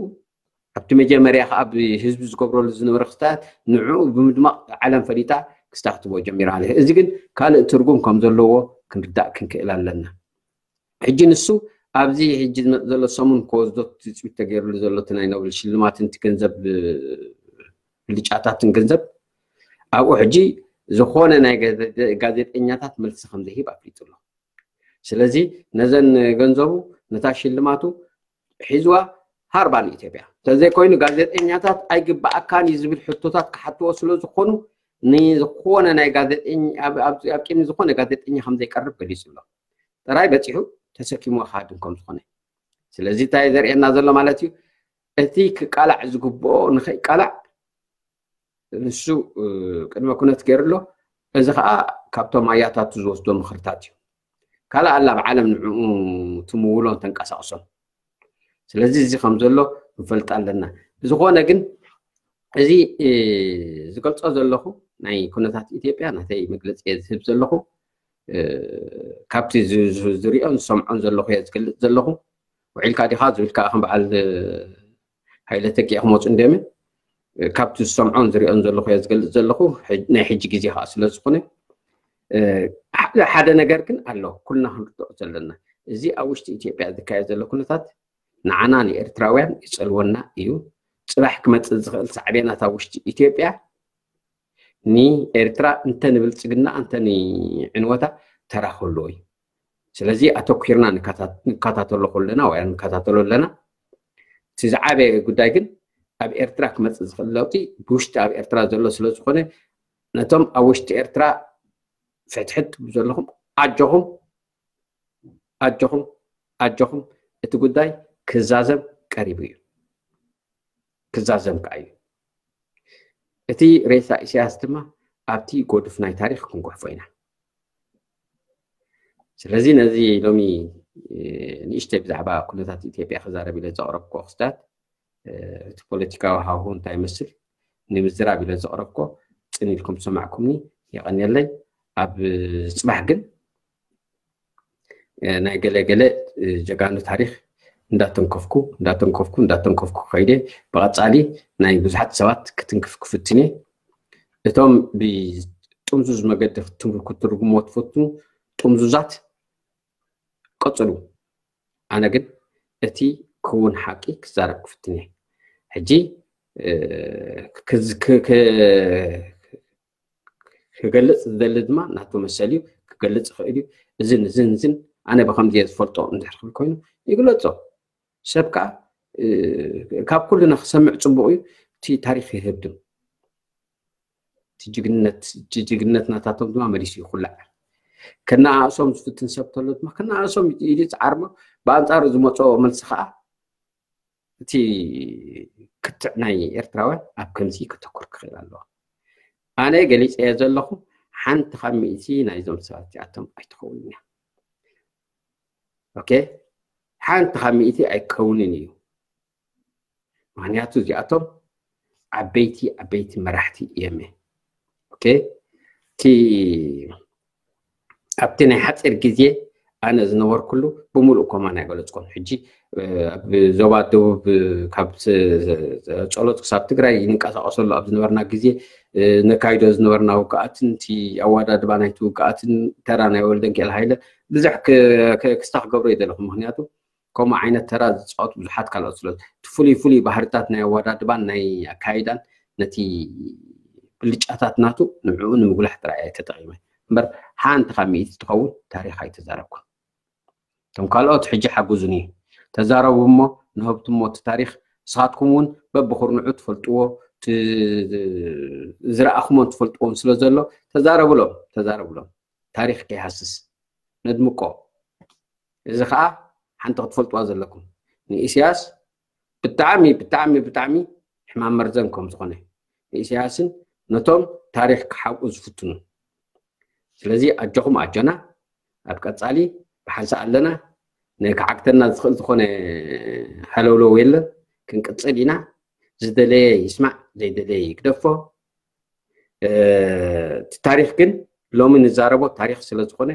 ኣብቲ መጀመርያ ከዓ ብህዝቢ ዝገብረሉ ዝነበረ ክስታት ንዕኡ ብምድማቕ ዓለም ፈሊጣ ክስታክትቦ ጀሚራ ኣለ። እዚ ግን ካልእ ትርጉም ከም ዘለዎ ክንርዳእ ክንክእል ኣለና። ሕጂ ንሱ ኣብዚ ሕጂ ዝመጽእ ዘሎ ሰሙን ክወስዶ ትጽቢት ተገይርሉ ዘሎ እቲ ናይ ኖብል ሽልማትን እቲ ገንዘብ ብልጫታትን ገንዘብ ኣብኡ ሕጂ ዝኾነ ናይ ጋዜጠኛታት መልሲ ከም ዘይህብ ኣፍሊጡ ኣሎ። ስለዚ ነዘን ገንዘቡ ነታ ሽልማቱ ሒዝዋ ሃርባ ንኢትዮጵያ። እንተዘይኮይኑ ጋዜጠኛታት ኣይግባኣካን እዩ ዝብል ሕቶታት ክሓትዎ ስለ ዝኾኑ ንዝኾነ ናይ ጋዜጠኛ ኣብ ቅድሚ ዝኾነ ጋዜጠኛ ከም ዘይቀርብ ገሊጹ ኣሎ። ጥራይ በፂሑ ተሰኪምዎ ክሃድም ከም ዝኾነ። ስለዚ እንታይ ዘርእየና ዘሎ ማለት እዩ? እቲ ክቃላዕ ዝግብኦ ንኸይቃላዕ ንሱ ቅድመ ኩነት ገይሩ ኣሎ። እዚ ከዓ ካብቶም ኣያታቱ ዝወስዶ ምኽርታት እዩ። ካልእ ኣላ ኣብ ዓለም ንዕኡ ትምውሎን ተንቀሳቕሶን። ስለዚ እዚ ከም ዘሎ ንፈልጥ ኣለና። ዝኾነ ግን እዚ ዝገልጾ ዘለኹ ናይ ኩነታት ኢትዮጵያ ናተይ መግለፂ እየ ዝህብ ዘለኹ። ካብቲ ዝሪኦን ዝሰምዖን ዘለኹ እየ ዝገልፅ ዘለኹ። ውዒልካ ዲኻ ዝብልካ ከም በዓል ሃይለ ተኪኤ ክመፁ እንዲዮምን ካብቲ ዝሰምዖን ዝሪኦን ዘለኹ እየ ዝገልፅ ዘለኹ። ናይ ሕጂ ግዜ ከዓ ስለ ዝኾነ ሓደ ነገር ግን ኣሎ ኩልና ክንርድኦ ዘለና። እዚ ኣብ ውሽጢ ኢትዮጵያ ዝካየድ ዘሎ ኩነታት ንዓና ንኤርትራውያን ይፀልወና እዩ። ፅባሕ ክመፅእ ዝኽእል ሳዕቤናት ኣብ ውሽጢ ኢትዮጵያ ንኤርትራ እንተ ንብልፅግና እንተ ንዕንወታ ተራ ክህልዎ እዩ። ስለዚ ኣተኲርና ንከታተሎ ከለና ወይ ንከታተሎ ኣለና። እቲ ዝዓበየ ጉዳይ ግን ኣብ ኤርትራ ክመፅእ ዝኽእል ለውጢ ብውሽጢ ኣብ ኤርትራ ዘሎ ስለ ዝኾነ ነቶም ኣብ ውሽጢ ኤርትራ ፍሕትሕት ዘለኹም ኣጆኹም ኣጆኹም ኣጆኹም እቲ ጉዳይ ክዛዘም ቀሪቡ እዩ። ክዛዘም ከዓ እዩ። እቲ ሬሳ ኢሳያስ ድማ ኣብቲ ጎዱፍ ናይ ታሪኽ ክንጉሕፎ ኢና። ስለዚ ነዚ ሎሚ ንእሽተይ ብዛዕባ ኩነታት ኢትዮጵያ ክዛረብ ኢለ ዘቕረብኩ ክስታት እቲ ፖለቲካዊ ሃሁ እንታይ ይመስል ንምዝራብ ኢለ ዘቕረብኮ ጽን ኢልኩም ዝሰማዕኩምኒ የቐንየለይ። ኣብ ጽባሕ ግን ናይ ገለ ገለ ጀጋኑ ታሪኽ እንዳተንከፍኩ እንዳተንከፍኩ እንዳተንከፍኩ ከይደ ብቐጻሊ ናይ ብዙሓት ሰባት ክትንክፍ ክፍትን እየ። እቶም ብጥምዙዝ መገዲ ክትርጉሞ ትፈትኑ ጥምዙዛት ቀጽሉ። ኣነ ግን እቲ ክውን ሓቂ ክዛረብ ክፍትን እየ። ሕጂ ክገልጽ ዝደሊ ድማ ናቱ መሰል እዩ ክገልጽ ይኽእል እዩ። እዝን እዝን እዝን ኣነ ብከምዚ እየ ዝፈልጦ እንድሕር ክብል ኮይኑ ይግለጾ። ሰብ ከዓ ካብ ኩልና ክሰምዕ ፅቡቅ እዩ። እቲ ታሪክ ይህብድም ጅግነት ናታቶም ድማ መሊሱ ይኩላዕ። ከነኣእሶም ዝፍትን ሰብ ተሎ ድማ ከነኣእሶም ኢሉ ይፅዓርሞ። ብኣንፃሩ ዝመፅኦ መልሲ ከዓ እቲ ክትዕ ናይ ኤርትራውያን ኣብ ከምዚ ከተኩር ክኽእል ኣለዎ። ኣነ ገሊፀ እየ ዘለኹ። ሓንቲ ካብ ሚእቲ ናይዞም ሰባት እዚኣቶም ኣይትኸውን እያ። ኦኬ ሓንቲ ካብ ሚእቲ ኣይከውንን እዩ። ምክንያቱ እዚኣቶም ዓበይቲ ዓበይቲ መራሕቲ እዮም። ኦኬ እቲ ኣብቲ ናይ ሓፂር ግዜ ኣነ ዝነበርኩሉ ብምሉእ ኮማ ናይ ገለፅኮም ሕጂ ኣብ ዞባ ደቡብ ካብ ጸሎት ክሳብ ትግራይ ይንቀሳቀሰሉ ኣብ ዝነበርና ግዜ ነካይዶ ዝነበርና ውግኣትን እቲ ኣወዳድባ ናይቲ ውግኣትን ተራ ናይ ወልደንኪኤል ሃይለ ብዙሕ ክስታ ክገብሮ ይደለኹ። ምክንያቱ ከምኡ ዓይነት ተራ ዝፃወቱ ብዙሓት ካልኦት ስለ እቲ ፍሉይ ፍሉይ ባህርታት ናይ ኣወዳድባን ናይ ኣካይዳን ነቲ ብልጫታት ናቱ ንዕኡ ንምጉላሕ ጥራይ እየ ተጠቒመ እምበር ሓንቲ ካብ ሚእቲ ትኸውን ታሪኽ ኣይተዛረብኩን። እቶም ካልኦት ሕጂ ሓግዙኒ ተዛረቡ እሞ ንህብትሞ እቲ ታሪኽ ንስኻትኩም እውን በብኹርንዑ ትፈልጥዎ ዝረኣኹሞን ትፈልጥዎም ስለ ዘሎ ተዛረብሎም ተዛረብሎም። ታሪኽ ከይሃስስ ነድምቆ። እዚ ከዓ ሓንቲ ክትፈልጥዋ ዘለኩም ንኢሳያስ ብጣዕሚ ብጣዕሚ ብጣዕሚ ሕማም መርዘን ከም ዝኾነ ንኢሳያስን ነቶም ታሪኽ ክሓብኡ ዝፍትኑ። ስለዚ ኣጆኹም ኣጆና ኣብ ቀፃሊ ብሓንሳእ ኣለና። ንክዓግተና ዝኽእል ዝኾነ ሃለውለው የለን። ክንቅፅል ኢና። ዝደለየ ይስማዕ ዘይደለየ ይግደፎ። እቲ ታሪኽ ግን ሎሚ ንዛረቦ ታሪኽ ስለ ዝኾነ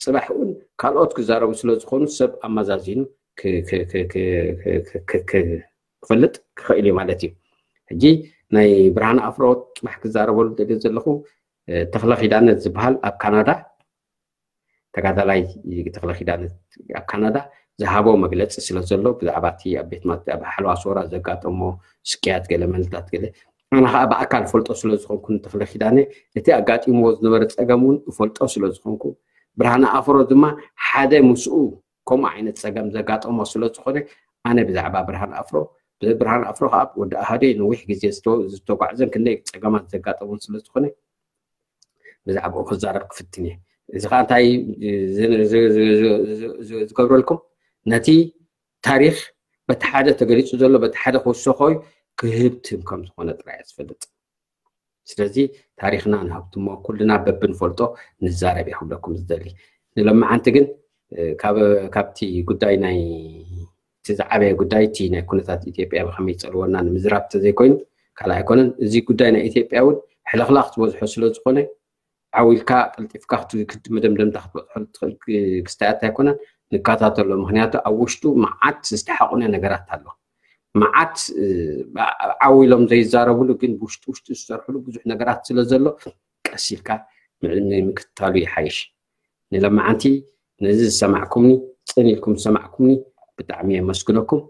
ፅባሕ እውን ካልኦት ክዛረቡ ስለ ዝኾኑ ሰብ ኣመዛዚኑ ክፈልጥ ክኽእል እዩ ማለት እዩ። ሕጂ ናይ ብርሃን ኣፍሮ ፅባሕ ክዛረበሉ ደልዮ ዘለኹ ተኽለ ኪዳነ ዝበሃል ኣብ ካናዳ ተጋዳላይ ተኽለ ኪዳነ ኣብ ካናዳ ዝሃቦ መግለፂ ስለ ዘሎ ብዛዕባ እቲ ኣብ ቤት ኣብ ሓለዋ ሶራ ዘጋጠሞ ስቅያት ገለ መንታት ገለ ኣነ ከዓ ብኣካል ፈልጦ ስለ ዝኾንኩ ንተኽለ ኪዳነ እቲ ኣጋጢምዎ ዝነበረ ፀገም እውን እፈልጦ ስለ ዝኾንኩ ብርሃነ ኣፍሮ ድማ ሓደ ምስኡ ከምኡ ዓይነት ፀገም ዘጋጠሞ ስለ ዝኾነ ኣነ ብዛዕባ ብርሃን ኣፍሮ ብብርሃን ኣፍሮ ከዓ ወዲ ኣሃደይ ነዊሕ ግዜ ዝተጓዕዘን ክንደይ ፀገማት ዘጋጠሞን ስለ ዝኾነ ብዛዕባኡ ክዛረብ ክፍትን እየ እዚ ከዓ እንታይ ዝገብረልኩም ነቲ ታሪክ በቲ ሓደ ተገሊፁ ዘሎ በቲ ሓደ ክውሰኮ ክህብትም ከም ዝኾነ ጥራይ ዝፈልጥ ስለዚ ታሪክና ንሃብትሞ ኩልና በብንፈልጦ ንዛረብ እየ ክብለኩም ዝደሊ ንሎማዓንቲ ግን ካብቲ ጉዳይ ናይ እቲ ዝዓበየ ጉዳይ እቲ ናይ ኩነታት ኢትዮጵያ ብከመይ ይፀልወና ንምዝራብ ተዘይኮይኑ ካልእ ኣይኮነን እዚ ጉዳይ ናይ ኢትዮጵያ እውን ሕልኽላኽ ዝበዝሖ ስለ ዝኾነ ዓው ኢልካ ቀልጢፍካ መደምደምታ ክትበፅሖ ትኽእል ክስታያት ኣይኮነን ንከታተሎ ምክንያቱ ኣብ ውሽጡ መዓት ዝተሓቑነ ነገራት ኣሎ መዓት ዓው ኢሎም ዘይዛረብሉ ግን ብውሽጢ ውሽጢ ዝሰርሕሉ ብዙሕ ነገራት ስለ ዘሎ ቀስ ኢልካ ምክትታሉ ይሓይሽ ንለማዓንቲ ነዚ ዝሰማዕኩምኒ ፅን ኢልኩም ዝሰማዕኩምኒ ብጣዕሚ የመስግነኩም